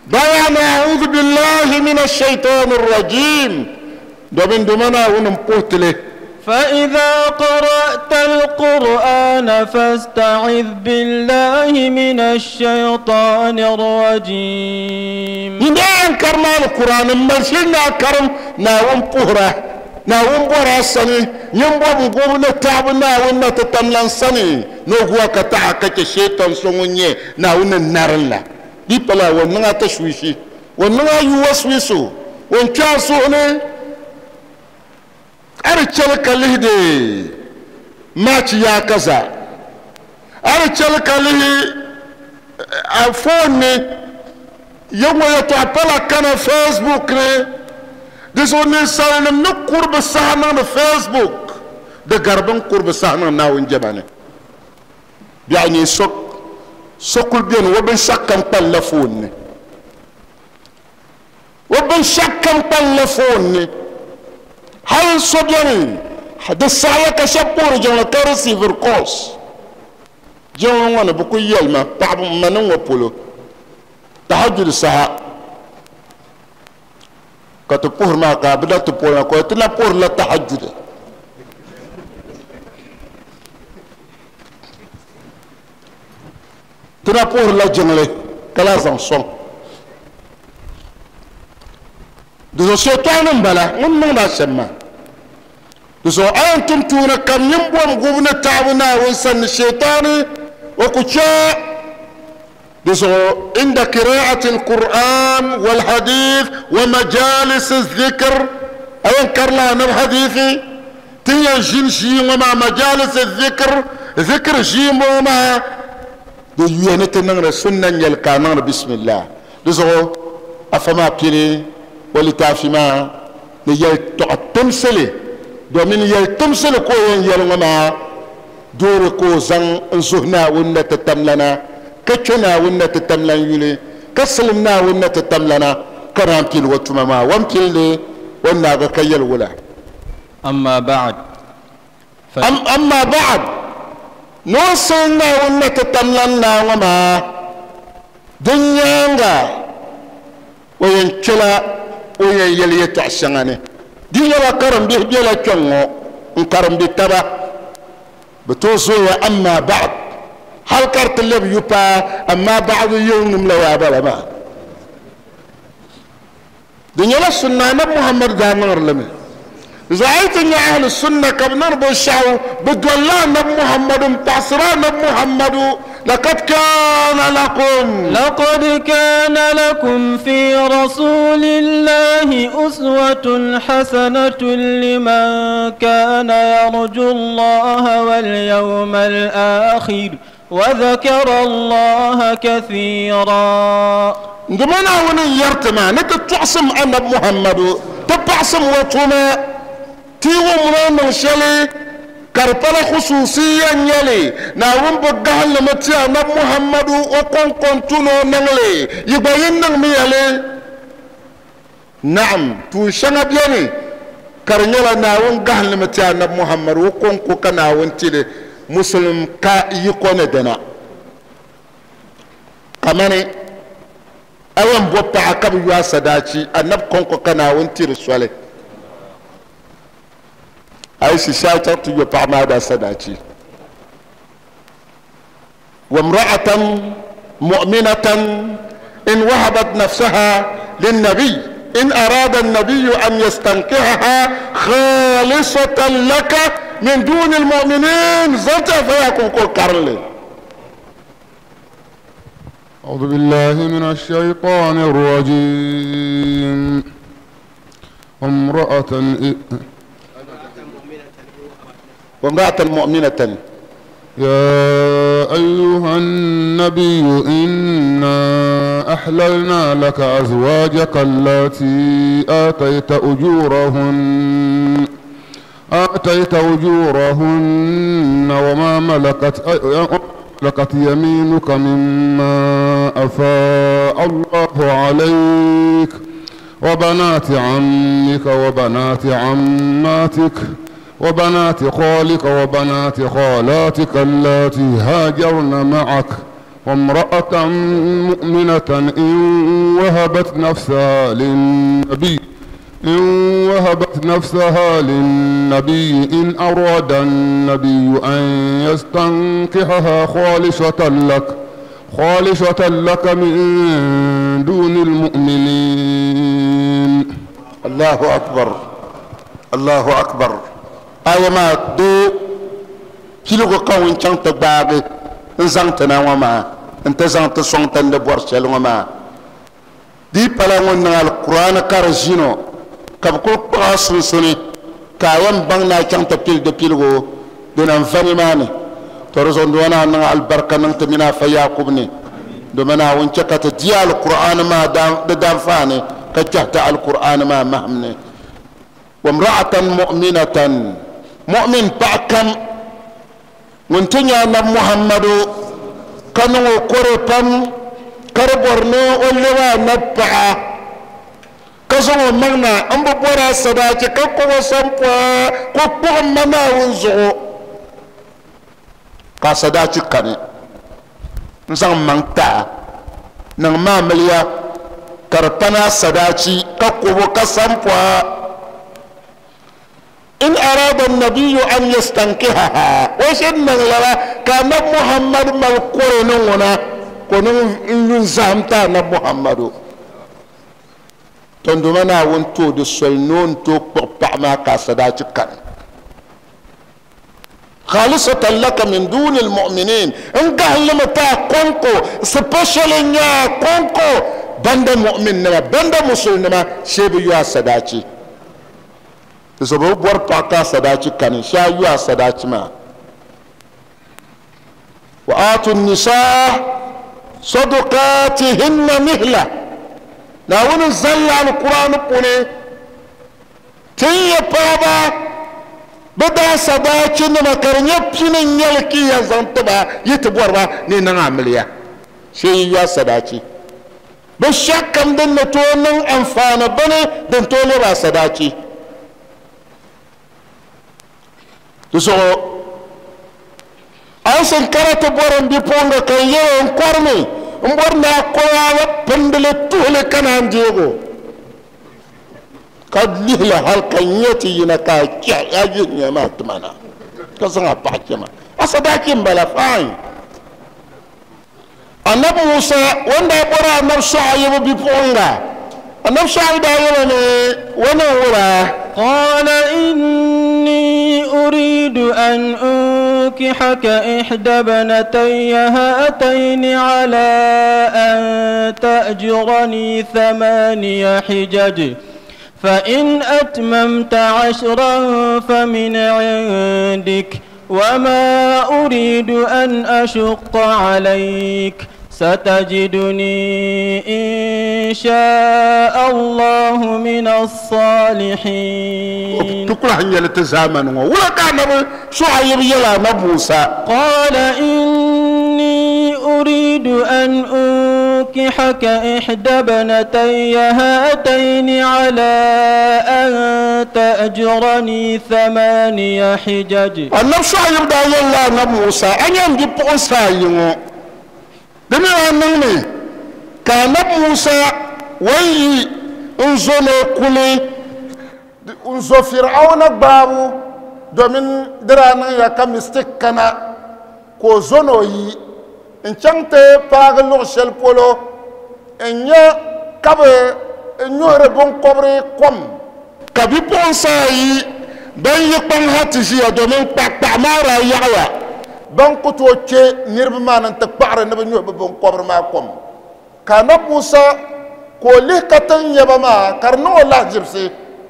Bayana a'udhu billahi minash shaitanir rajim domin dumana wunin potile. فإذا قرأت القرآن فاستعذ بالله من الشيطان الرجيم. إذا أنكرنا القرآن مرشنا كرم ناوم بهرة ناوم بهرة سني ينبغي بقول نتعب ناوم نتتملن سني نقوى كتاعك الشيطان سوني ناوم النار لا دي بلا ونعا تشويشي ونعا يوسوسو ونكاسوني أرجل كله ماتش يا كذا أرجل كله أفوني يوم يتعبلا كان فيسبوك ني دسوني سالم نقرب بسهنا فيسبوك ده غربن قرب سهنا ناوين جبانه يعني سوق سوق بين وبن شكم تلفون وبن شكم تلفون هل صدري هذا الساعة كشبور جون كرسي في القوس جون وانا بكو يلما تعب منو وبولو تهجد الساعة كتبور ما قابلة تبور كو تنبور لا تهجد تنبور لا جنلي كلا زنصون دو شيطان بلا من ما سمى دو أنتم تون كم ينبوم غبنا تعبنا وإنسان الشيطان وكشاء دو عند قراءة القرآن والحديث ومجالس الذكر أنكر لنا الحديث تيا جنشي وما مجالس الذكر ذكر جيم وما دو ينتنغ سنة يلقانا بسم الله دو أفما بيني ولتافما نيل تمسلي دومين يل تمسلي كوين يلغما دور كو زن زهنا ونة تتملنا كتنا ونة تتملن يلي كسلمنا ونة تتملنا كرامتي الوتمما وامتلي لي وناغ كيل ولا. أما بعد ف... أم أما بعد نوصلنا ونة تتملنا وما دنيا وينكلا وين يلي تعشاني دي يلا كرم به بلا كنو انكرم بتبا بتوصل أما بعد هل كرت اللي بيبا أما بعد يوم لا يا بلا ما دنيا السنة محمد دانور لمي زعيت إن أهل السنة كم نربو الشعو بدولا نب محمد تعصرا نب محمد لقد كان لكم لقد كان لكم في رسول الله أسوة حسنة لمن كان يرجو الله واليوم الآخر وذكر الله كثيرا. عندما وني يرتما نتعصم أن محمد تبعصم وتما تيو من شلي كربلا خصوصيا يلي ناوم بقهل لمتيا نب محمد وقن قنتونو نغلي يبين نغمي يلي نعم توشنا بيني كرنيلا ناوم قهل لمتيا نب محمد وقن قوكا ناوم تيلي مسلم كا يكون دنا كماني أوام بوبا عكب يواسا داتي النب قن قوكا ناوم تيلي سوالي أي شاطر تيجي ماذا سداتي وامرأة مؤمنة إن وهبت نفسها للنبي إن أراد النبي أن يستنكحها خالصة لك من دون المؤمنين زلت فيكون كل كارلي. أعوذ بالله من الشيطان الرجيم. امرأة وامرأة مؤمنة يا أيها النبي إنا أحللنا لك أزواجك اللاتي آتيت أجورهن آتيت أجورهن وما ملكت ملكت يمينك مما أفاء الله عليك وبنات عمك وبنات عماتك وبنات خالك وبنات خالاتك اللاتي هاجرن معك وامرأة مؤمنة إن وهبت نفسها للنبي إن وهبت نفسها للنبي إن أراد النبي أن يستنكحها خالصة لك خالصة لك من دون المؤمنين. الله أكبر الله أكبر. آية ما دو كيلو كون شانت باغي نزانت نوما انت زانت سونت ندبور شلوما دي بلانون القرآن كارجينو كبكو قاسن سوني كايم بان شانت بيل دو بيلو دون انفاني ماني ترزون دوانا ان البركه ننت منا فياقوبني دومنا وانشكت ديال القرآن ما دام دام فاني كجهت القرآن ما مهمني. وامرأة مؤمنة مؤمن باكم وانتنيا محمد كانوا كوربام كربورنو ولوا نبع كزو مغنا ام بورا صداك كوكو سامبا كوكو منا ونزو كصداك كاني نزان مانتا نان مامليا كربنا صداكي كوكو كسامبا إن أراد النبي أن يستنكحها وشن نغلبا كان محمد مالكورنونا كونون نزامتا محمد تندمنا وانتو دي سلنون تو قطع كاسداتي كان خالصة لك من دون المؤمنين إن قال تا كونكو سبيشال نيا كونكو بند مؤمن نما بند مسلم نما شيبي يا سداتي تسبب بور باكا سداتي كان شا يا سداتي ما وآتوا النساء صدقاتهن نهلة ناون زل على القرآن بوني تي بابا بدا سداتي نما كرنيا بيني نيلكي يا زنتبا يتبور با ني نعمليا شي يا سداتي بشكم دن تونن انفانا بني دن توني با سداتي so an karata boron bi ponga kan yewon kormi mborna koyawa pendele tuhle kanan jego kad lihla hal kan yeti yina ka kya yaji nyama tumana ka sanga pakema asadaki mbala fine annabi Musa wanda bora annabi Shu'aib bi ponga annabi Shu'aib da yana ne wannan wura قال إني أريد أن أنكحك إحدى ابنتي هاتين على أن تأجرني ثماني حجج فإن أتممت عشرا فمن عندك وما أريد أن أشق عليك ستجدني إن شاء الله من الصالحين. تقول هنيا لتزامن ولا كان شعيب يلا نبوسا قال إني أريد أن أنكحك إحدى ابنتي هاتين على أن تأجرني ثماني حجج. النبي شعيب دا يلا نبوسا أن ينجي بوسا يمو دمي أنني كان موسى وي انزل كلي انزل فرعون بابو دومين درانا يا كمستك كنا كوزونو يي ان شانت باغ لوشل بولو ان يا كاب نور بون كوبري كوم كابي بونساي بن يقن هاتجي دومين باك مارا يعوا ban ku to ke nirba ma nan ta kpaɣari ni bi nyuhi bi binkobiri maa kom ka na Musa ka o lihi ka tiŋ nyɛba maa ka di niŋ o lahajibsi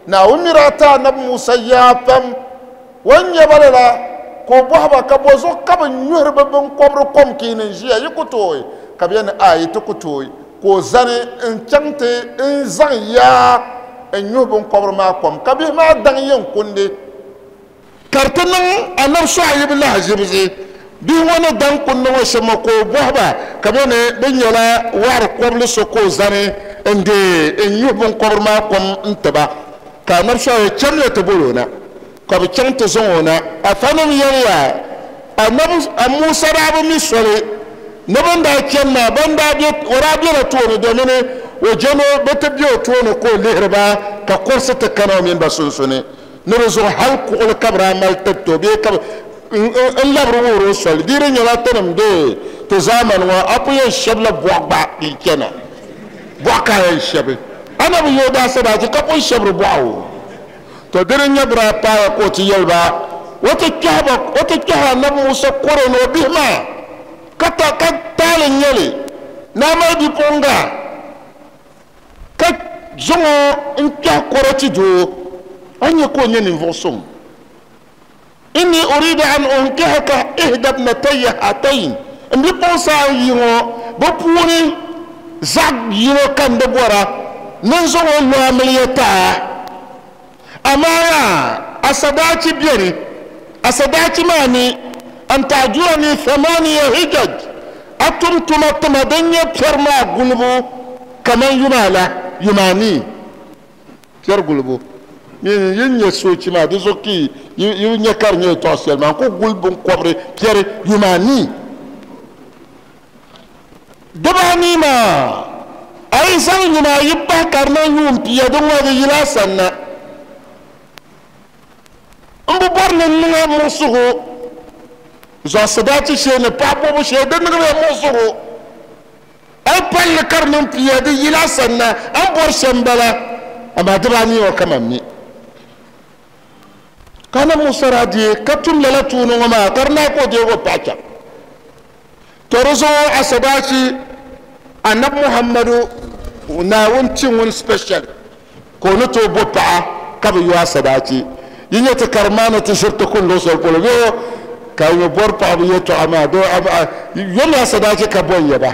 Naawuni mi daa ti anabi Musa yaa pam o ni nyɛba lala ka o bɔhi ba ka bɔzuɣu ka bi nyuhiri bi binkobiri kom ka yi ni ʒiya yi ku tooi ka bi yɛli ni a yi ti ku tooi ka o zani n chaŋ ti n zaŋ yaa n nyuhi binkobiri maa kom ka bihi maa daŋ yɛn kundi ka di ti niŋ anabi Shu'aib lahajibsi bihi ŋɔ ni daŋ kundi ŋɔ shɛm ka o bɔhi ba ka bɛ ni bɛ nyɛla waɣari kɔbili so ka o zani n dee n nyuhi binkɔbiri maa kom n tiba ka anabi Shu'aib chɛmya ti boli o na ka bi chaŋ ti zaŋ o na afanim yɛliya anabi Musa daa bi mi soli Ne ban daa chani maa ban daa be o daa bela tooni domini o jɛno bi ti be o tooni ka o lihiri ba ka kursi ti kana o mini ba sunsuuni ni di zuɣu hali kuɣuli ka bi daa mali tiriti o bee ka n labiri wuhiri o soli di di nyɛla tinim bee ti zaamani ŋɔ a ku yɛn shɛbila bɔɣu gba n chana bɔɣu ka a yɛn shɛbi ana bi yo daa sadaachi ka pun shɛbiri bɔɣu to di di nyɛ bi daa paaya ka o ti yɛli ba o ti kpɛhi ba o ti kpɛhi anabi Musa kɔro ni o bihi maa ka ta ka taali nyɛli ni a mali bipuɣinga ka zaŋ o n kpɛhi kɔro ti doo a nyɛ ka o nyɛ ninvuɣu suŋ inni uridu an unkihaka ihda ibnatayya hatayn n bipuɣinsi ayi ŋɔ bi puuni zaɣ yino ka n di bɔra ni n zaŋ o lo amiliya taa amaa a sadaachi beni a sadaachi maa ni an ta'jurani thamaniya hijaj a tum tuma tima din nyɛ piɛri maa gulibu kaman yuma la yumani piɛri gulibu mini yin nyɛ soochi maa di zuɣu ki yi nyɛ ka di nyɛ tɔɣa shɛli maa n ku guli binkɔbiri piɛri yumani dibaanii maa a yi zaŋ yuma ayi pahi ka di niŋ yuun pia di ŋɔ di yila a sanna n bi bɔri ni n niŋ a muɣusigu zuɣu sadaachi shee ni paɣa bɔbu shee di niŋla muɣusigu a yi palli ka di niŋ pia di yila a sanna a ni bɔri shɛm bala amaa dibaanii ŋɔ kaman mi ka na Musa daa deei ka tum lala tuuni ŋɔ maa ka di naai ka o deegi o paɣa chaŋ to di zuɣu a sadaachi anabi Muhammadu Naawuni ti ŋun special ka o ni tooi bo paɣa ka bi yo a sadaachi yi nyɛ ti karim maa ni ti ʒiri ti kuni luɣu shɛli polo bee ka yi bɔri paɣaba yɛltɔɣa maa do yomi a sadaachi ka bɔn yaba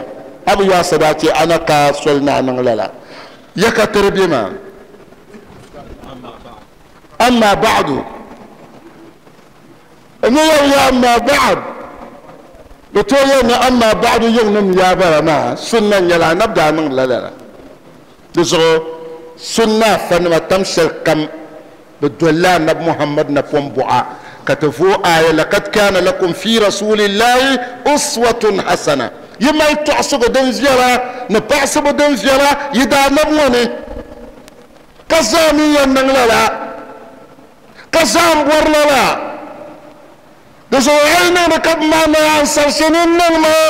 a bi yo a sadaachi a na ka soli ni a niŋ lala ya ka tiri bɛ maa amma ba'du n yɛn ya amma ba'd bi tooi yɛn ni amma ba'du yiŋnim yaa bala maa sunna nyɛla anabi daa niŋ lala la di zuɣu sunna afanima tam shɛli kam bi dolila anabi Muhammad napɔŋ buɣa ka ti vooi aya laqad kana lakum fi rasulillahi uswatun hasana yi mali tɔɣisigu din viɛla ni paɣasibu din viɛla yi daa anabi ŋɔ ni ka zaa mi yɛn niŋ lala ka zaa n bɔri lala di zuɣu a yi niŋdi ka bi maa naa ansarisi ni n niŋ maa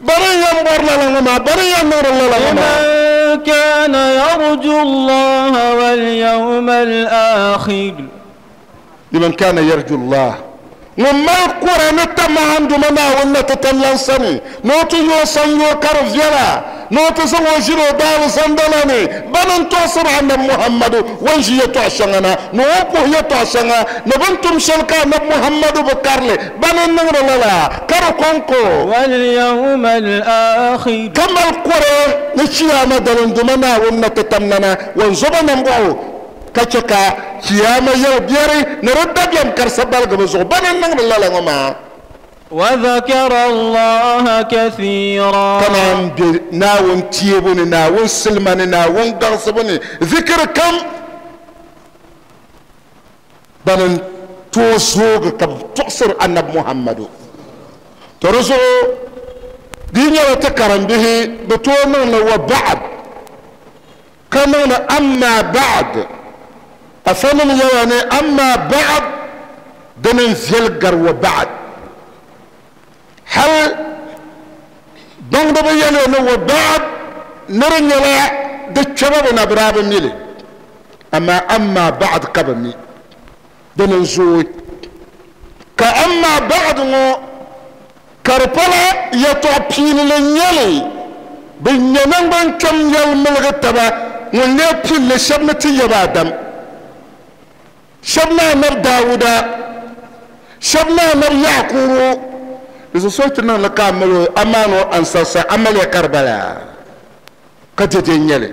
bari n yɛn bɔri lala ŋɔ maa bari n yɛn niŋdi lala ŋɔ maa لمن كان يرجو الله واليوم الآخر لمن كان يرجو الله ŋun mali kura ni tamahanduma Naawuni ti tamlan sani ni o ti yo san yo ka di viɛla ni o ti zaŋ o ʒiri o daali sandala ni bani n tɔɣisiri anabi Muhammadu o ni ʒi yɛltɔɣa shɛŋa na ni o ni puhi yɛltɔɣa shɛŋa ni bini tum shɛli ka anabi Muhammadu bi karili bani n niŋdi lala ka di kɔŋko واليوم الآخر ka mali kore ni chiyaama dalinduma Naawuni na ti tamlana ŋun zoba nambɔɣu ka chɛ ka chiyaama yɛli biɛri ni di dabiɛm karisa baligibu zuɣu bani n niŋdi lala ŋɔ maa وذكر الله كثيرا ka naan be Naawuni teebu ni Naawuni silima ni Naawuni gaŋsibu ni zikiri kam bani n tooi zoogi ka bi tɔɣisiri anabi Muhammadu to di zuɣu di nyɛla ti karimbihi bi tooi niŋli wa ba'd ka niŋli amma ba'd afanim yɛla ni amma ba'd dini n viɛli gari wa ba'd hal baŋdiba yɛli ni wa ba'd ni di nyɛla di kpɛba bi na bi daa bi mi li amaa amma ba'd ka bi mi dini n zooi ka amma ba'd ŋɔ ka di pala yɛltɔɣa piinili n nyɛli bi nyɛ naŋgban kpɛm yɛli miligi taba ŋun lee pilli shɛba ni ti yaba Adam shɛba ni anabi Dawuda shɛba ni anabi Yakubu di zuɣu so ti niŋli ka a mali o a maani o ansarisa amaliya ka di bala ka dɛdɛ n nyɛli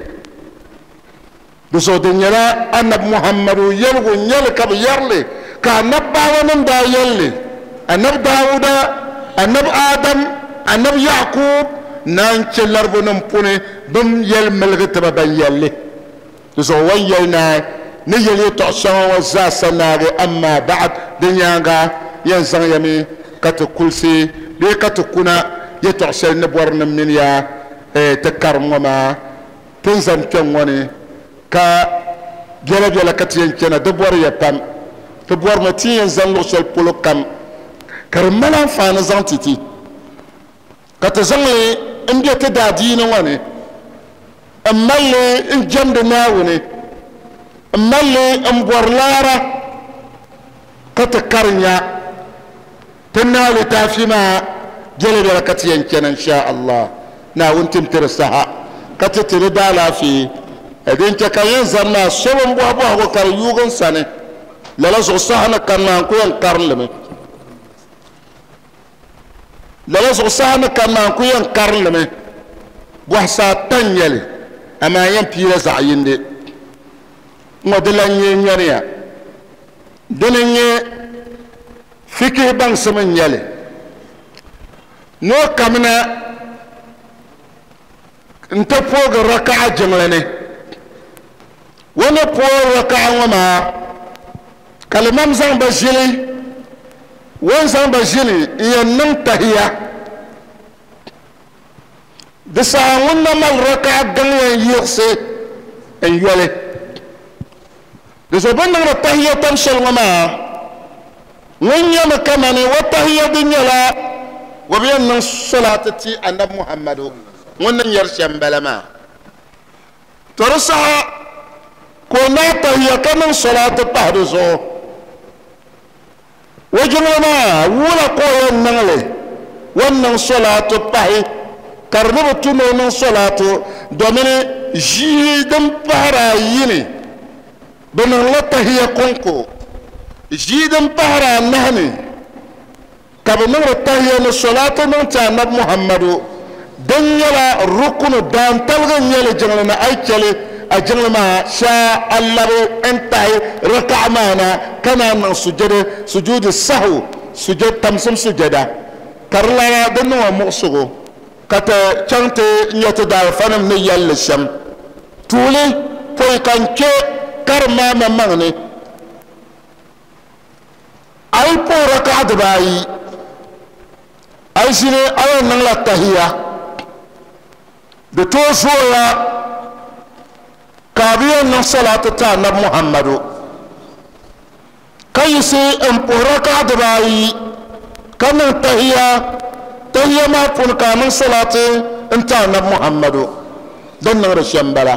di zuɣu di nyɛla anabi Muhammadu yɛligu n nyɛli ka bi yɛrili ka anabi baawa nim daa yɛlli anabi Dawuda anabi Adam anabi Yakub naan chɛ laribu nim puuni bin yɛli miligi tiba ban yɛlli di zuɣu wan yɛli naai ni yɛli yɛltɔɣa shɛŋa ŋɔ zaasa naagi amma ba'd di nyaanga yɛn zaŋ ya mi ka ti kulisi bee ka ti kuna yɛltɔɣa shɛli ni bɔri ni mini ya ti karim ŋɔ maa tin zani kpɛŋ ŋɔ ni ka biɛla biɛla ka ti yɛn chana di bɔri ya pam ti bɔrimi ti yɛn zaŋ luɣu shɛli polo kam ka di mali anfaani zaŋ ti ti ka ti zaŋli n bɛ ti daadiini ŋɔ ni n malli n jɛmdi Naawuni n malli n bɔri laara ka ti karinya ti naai litaafi maa biɛla biɛla ka ti yɛn chana insha Allah Naawuni tim ti di saha ka ti ti di daalaafee din chɛ ka yɛn zani maa so bin bɔhi bɔhigu ka di yuugi n sani lala zuɣu saha ni kani maa n ku yɛn karinlimi lala zuɣu saha ni kani maa n ku yɛn karinlimi bɔhisi ata n nyɛli amaa yɛn piila zaɣ yindi ŋɔ di lan nyɛ nyɛriya dini n nyɛ fikihi baŋsim n nyɛli ni o kamina n ti poogi raka'a jiŋli ni o ni poogi raka'a ŋɔ maa ka limam zaŋ ba ʒili o ni zaŋ ba ʒili n yɛn niŋ tahiya di saha ŋun na mali raka'a gaŋ yɛn yiɣisi n yɔli di zuɣu bini niŋdi tahiya tam shɛli ŋɔ maa ŋun nyɛmi kamani o tahiya di nyɛla o bi yɛn niŋ solati ti anabi Muhammadu ŋun ni nyɛri shɛm bala maa to di saha ka o naai tahiya ka niŋ solati pahi di zuɣu o jiŋli maa wula ka o yɛn niŋli o ni niŋ solati pahi ka di ni bi tu ni o niŋ solati domini ʒii din pahari ayi ni bi niŋla tahiya konko ʒii din pahari anahi ni ka bi niŋdi tahiya ni solati niŋ ti anabi Muhammadu din nyɛla rukunu daantaligi n nyɛli jiŋli ni a yi chɛli a jiŋli maa shaa a labi n tahi raka'a maa na ka naan niŋ sujada sujuudi sahu sujad tamsim sujada ka di lana di niŋ o muɣusigu ka ti chaŋ ti nyɛ ti daalifanim ni yɛlli shɛm tuuli pɔi ka n kpɛ karim maa maŋmaŋ ni a yi puhi raka'a dibaayi a yi ʒini a yɛn niŋla tahiya di tooi zooya ka a bi yɛn niŋ salati ti anabi Muhammadu ka yiɣisi n puhi raka'a dibaayi ka niŋ tahiya tahiya maa puuni ka a niŋ salati n ti anabi Muhammadu din niŋdi shɛm bala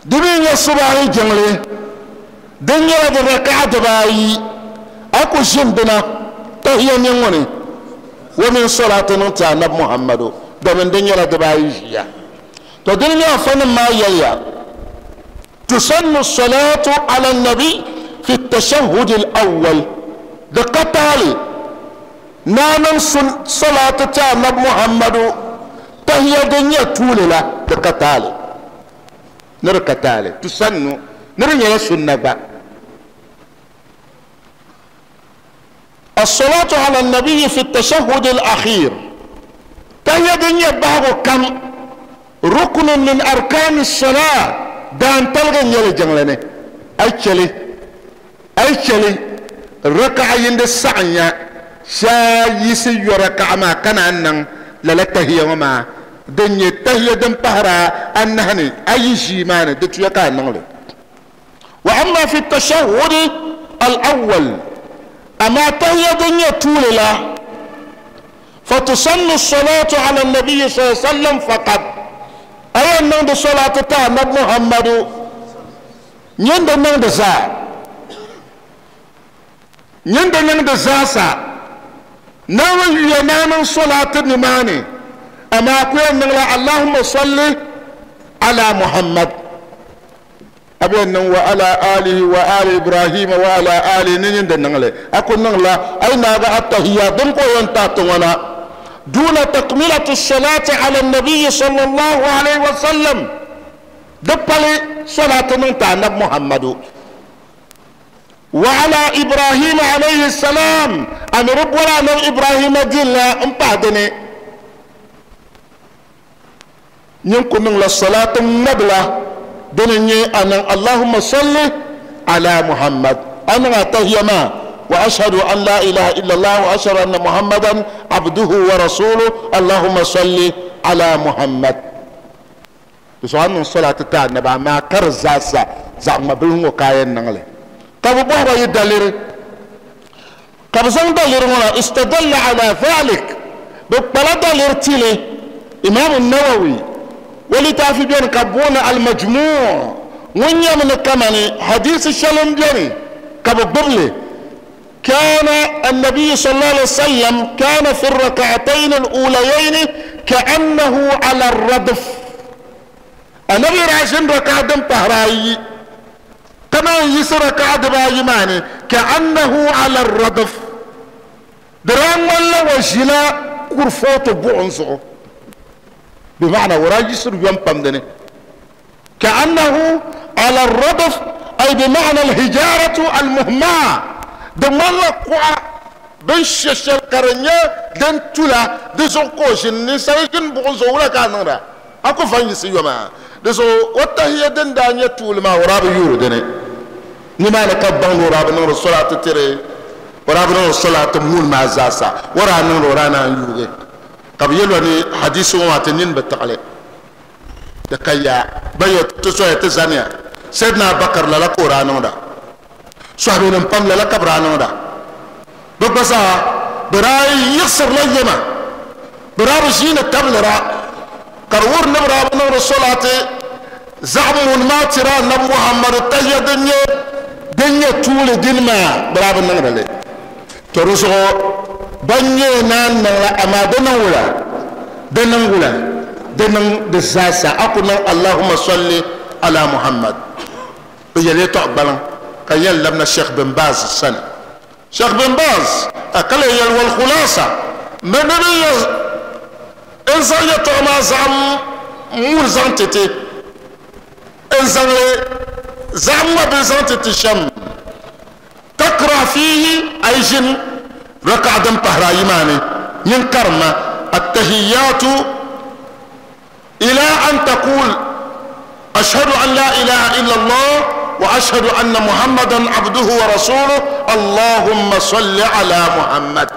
di mi nyɛ subahi jiŋli din nyɛla di raka'a dibaayi a ku ʒini dina tahiya ni ŋuni o mini salati niŋ ti anabi Muhammadu domin din nyɛla dibaayi ʒiya to dini nyɛ afanim maa yɛliya tusannu salatu ala nabi fi tashahudi al-awwal di ka taali naa niŋ salati ti anabi Muhammadu tahiya din nyɛ tuuli la di ka taali ni di ka taali tusannu ni di nyɛla sunna gba الصلاة على النبي في التشهد الأخير تهي دنيا بعض كم ركن من أركان الصلاة دان تلغن يلي جنلني أي شلي أي شلي ركعة يند السعنية شايسي يركع ما كان أنن لا تهي وما دنيا تهي دن بهرا أنهني أي شيء ما ندتيا نغلي وأما في التشهد الأول أما تهي دنيا طول لا فتسن الصلاة على النبي صلى الله عليه وسلم فقط أي نند صلاة تاع محمد نند نند زا نند نند زا سا نوي ينام صلاة نماني أما كون اللهم صل على محمد أبين وعلى آله وآل إبراهيم وعلى آل نين دنغلي أكون نغلا أي نابع التهيا دنكو ينتاتونا دون تكملة الصلاة على النبي صلى الله عليه وسلم دبلي صلاة ننتع نب محمد وعلى إبراهيم عليه السلام أن رب ولا نب إبراهيم دينا امبعدني ينكو نغلا الصلاة النبلة دنيا أن اللهم صل على محمد أنا أتهيما وأشهد أن لا إله إلا الله وأشهد أن محمدا عبده ورسوله اللهم صل على محمد. تسوان من صلاة التعنب ما كرزاسا زعما بلنغو كاين نغلي كابو بوهبا يدلير كابو زن دلير هنا استدل على ذلك ببلا دلير تيلي إمام النووي ولتافي بيان كابونا المجموع ونيا من كماني حديث الشلم بياني كابو ببلي كان النبي صلى الله عليه وسلم كان في الركعتين الأوليين كأنه على الردف. النبي راشن ركعة طهراي كما يسر ركعة بايماني كأنه على الردف دران ولا وجلا كرفوت بعنزو بمعنى وراجي يسر يوم بمدني كأنه على الردف أي بمعنى الهجارة المهمة دمان قوة بنش الشرقرنية دن تولا دزو كوشن نسايجن بعنزو ولا كانورا أكو فانيسي يوما دزو وتهي دن دانية طول ما وراب يورو دني نما نكبان وراب نور الصلاة تري وراب نور الصلاة مول ما زاسا ورا نور ورانا يوري طب يلوني حديث وما تنين بالتعليق دكيا بيت تسوي تزانيا سيدنا بكر لا قران ودا صحابين بام لا كبران ودا ببسا براي يخسر ليما براب زين التبلرا كرور نبرا نور الصلاة زعم ما ترى نبي محمد تهيا دنيا دنيا طول دين ما براب نور لي ترسو بني نان نلا أما دنولا دنولا دنن دساسا أقول اللهم صل على محمد بيجي تقبل كيل لمنا الشيخ بن باز السنة الشيخ بن باز أقل يل والخلاصة من نبي إنسان يتعمى زعم مول زانتتي إنسان زعم بزانتتي شم تقرأ فيه أيجن ركعة دم طهرايماني ينكرم التهيات إلى أن تقول أشهد أن لا إله إلا الله وأشهد أن محمدا عبده ورسوله اللهم صل على محمد.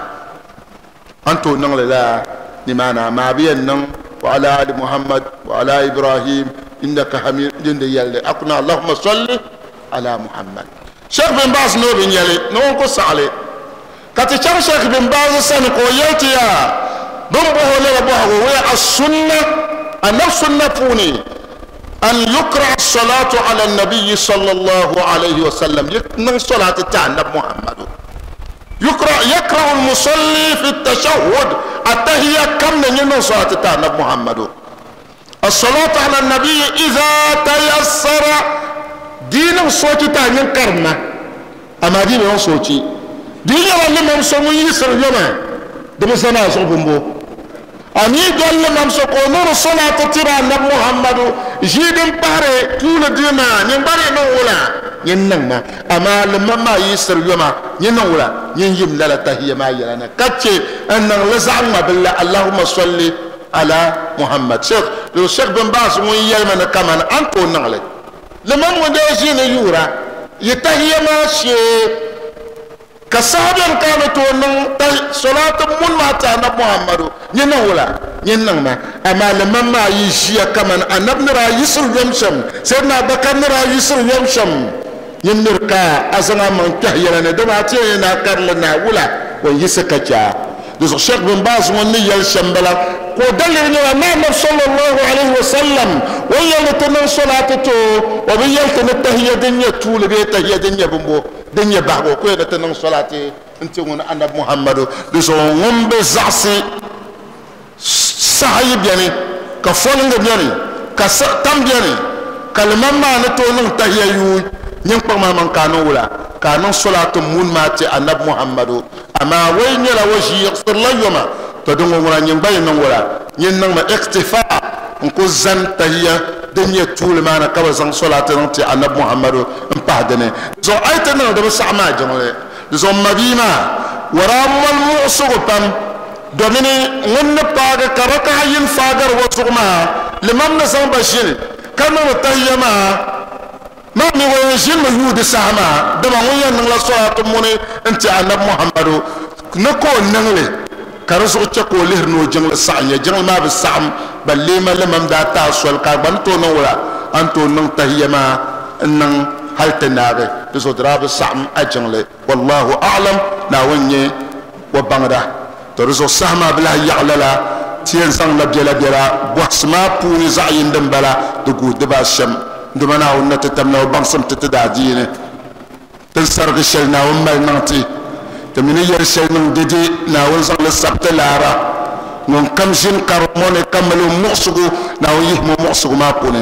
أنتو نقول لا لمانا ما بينن وعلى آل محمد وعلى إبراهيم إنك حميد يلي أقنا اللهم صل على محمد. شيخ بن باز نو بن يلي نو قص عليه كتشار شيخ بن باز سنقو يلتيا بمبه لربه وهي السنة النفس النفوني أن يقرأ الصلاة على النبي صلى الله عليه وسلم يقرأ صلاة النبي محمد يقرأ يقرأ المصلي في التشهد التهية كم من صلاة النبي محمد الصلاة على النبي إذا تيسر دين صوت تاني كرمة أما دين صوتي دين اللي ممسوي يسر يوما دمسنا صوبهم أني قال لهم سقونور الصلاة ترى النبي محمد جيدن باري طول ديما نباري نولا ينما أما لما ما يسر يوما ينولا ينجم لا تهي ما يلانا كتشي أن لزعم بالله اللهم صل على محمد. شيخ لو شيخ بن باز وين يلمن كمان أنكو نغلي لما مدازين يورا يتهي ما شيء كصحابين كانوا تونن صلاة من ما تانا محمد ينولا ينما أما لما ما يجي كمان النبي را يسر يمشم سيدنا بكر را يسر يمشم ينركا أزنا من تهيا لنا دمعتي ناكر لنا ولا ويسكتا دوس الشيخ بن باز وني يلشم بلا ودلل الإمام صلى الله عليه وسلم ويلتنا صلاته ويلتنا التهيا دنيا طول بيت تهيا دنيا بمبو دنيا باغو كوي تنن صلاتي انت ون انا محمد دسو ون بزعسي صحيب يعني كفولن يعني كتم يعني كلمه ما نتو نن تهيا يو نين ما من كانوا ولا كانوا صلاه مون ماتي النبي محمد اما وين لا وجي يغفر لا يوم تدون ولا نين باي نن ولا نين نن ما اكتفاء نكو زن تهيا دنيا طول ما انا كبزن صلاه نتي النبي محمد امبادني زو ايتنا دب سعما جمله زو مبيما ورام المعصوبم دوميني ون باغ كركا ين فاغر وسوما لمن نسان بشير كانوا تهيما ما مي yɛn ʒinimi yuudi saha maa dama ŋun yɛn niŋla sɔlaatu muni n ti anabi muhammadu ni ka o niŋli ka di zuɣu chɛ ka o lihiri ni o jiŋli saɣam ya jiŋli maa bi saɣam ban leema limam daa taa soli ka a gba ni tooi niŋ wula a ni tooi niŋ tahiya maa n niŋ hali ti naagi di zuɣu di daa bi saɣam a jiŋli wallahu a'lam naawuni nyɛ o baŋda to di zuɣu saha maa bi lahi yaɣa lala ti yɛn zaŋla biɛla biɛla bɔhisi maa puuni zaɣ yini din bala di guui dibaa shɛm nduma naawuni na ti tamla o baŋsim ti ti daa diini tin sarigi shɛli naawuni mali niŋ ti ti mi ni yɛli shɛli niŋ dede naawuni zaŋli sabiti laara ŋun kam ʒini karim ŋɔ ni ka mali o muɣusigu naawuni yihimi o muɣusigu maa puuni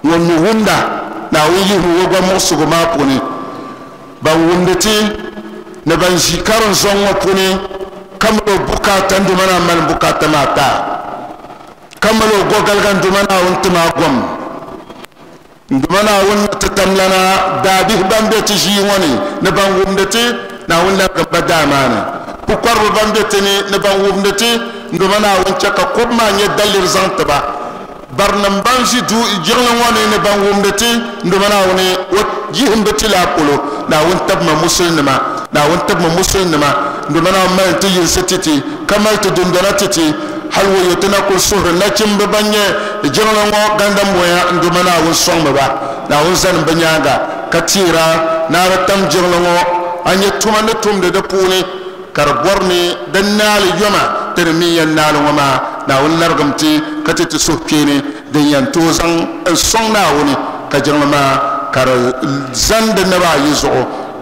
ŋun mi wumda naawuni yihimi o gba muɣusigu maa puuni ban wumdi ti ni ban ʒi karim zɔŋ ŋɔ puuni ka mali o bukaata nduma naa mali bukaata maa taa ka mali o gɔgaliga nduma naawuni ti maa gom nduma naawuni ti tamlana daabihi ban be ti ʒii ŋɔ ni ni ban wumdi ti naawuni larigi ba daa maa ni pukɔriba ban be ti ni ni ban wumdi ti nduma naawuni chɛ ka kɔbu maa nyɛ daliri zaŋ ti ba barinim ban ʒi du jiŋli ŋɔ ni ni ban wumdi ti nduma naawuni o yihim bi ti laa polo naawuni tabima musulinima naawuni tabima musulinima nduma naawuni mali ti yinsi titi ka mali ti dundona titi hali woyo ti na kuli suhuri nachimbi ban nyɛ jiŋli ŋɔ gandam boya nduma naawuni sɔŋmi ba naawuni zani bi nyaanga ka tiira naari tam jiŋli ŋɔ a nyɛ tuma ni tumdi di puuni ka di bɔri ni di naali yoma ti di mi yɛn naali ŋɔ maa naawuni larigim ti ka ti ti suhukpeeni din yɛn tooi zaŋ n sɔŋ naawuni ka jiŋli maa ka di zani di naba ayi zuɣu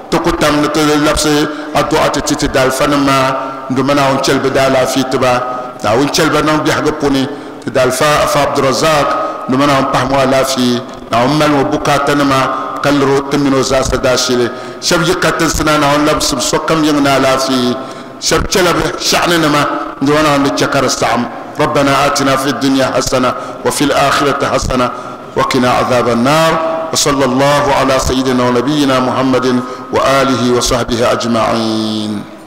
ti ku tam ni ti labisi adu'a ti ti ti daalifa nim maa nduma naawuni chɛli bi daalaafee tiba naawuni chɛli ba niŋ biɛhigu puuni ti daalifa afa abdurazak nduma naawuni pahimi o alaafee naawuni mali o bukaata nima ka liri ti mini o zaasa daashili shɛba yi katinsi na naawuni labisi sokam yiŋ ni alaafee shɛba chɛla bi shɛɣani nima nduma naawuni di chɛ ka di saɣam ربنا آتنا في الدنيا حسنة وفي الآخرة حسنة وقنا عذاب النار وصلى الله على سيدنا ونبينا محمد وآله وصحبه أجمعين.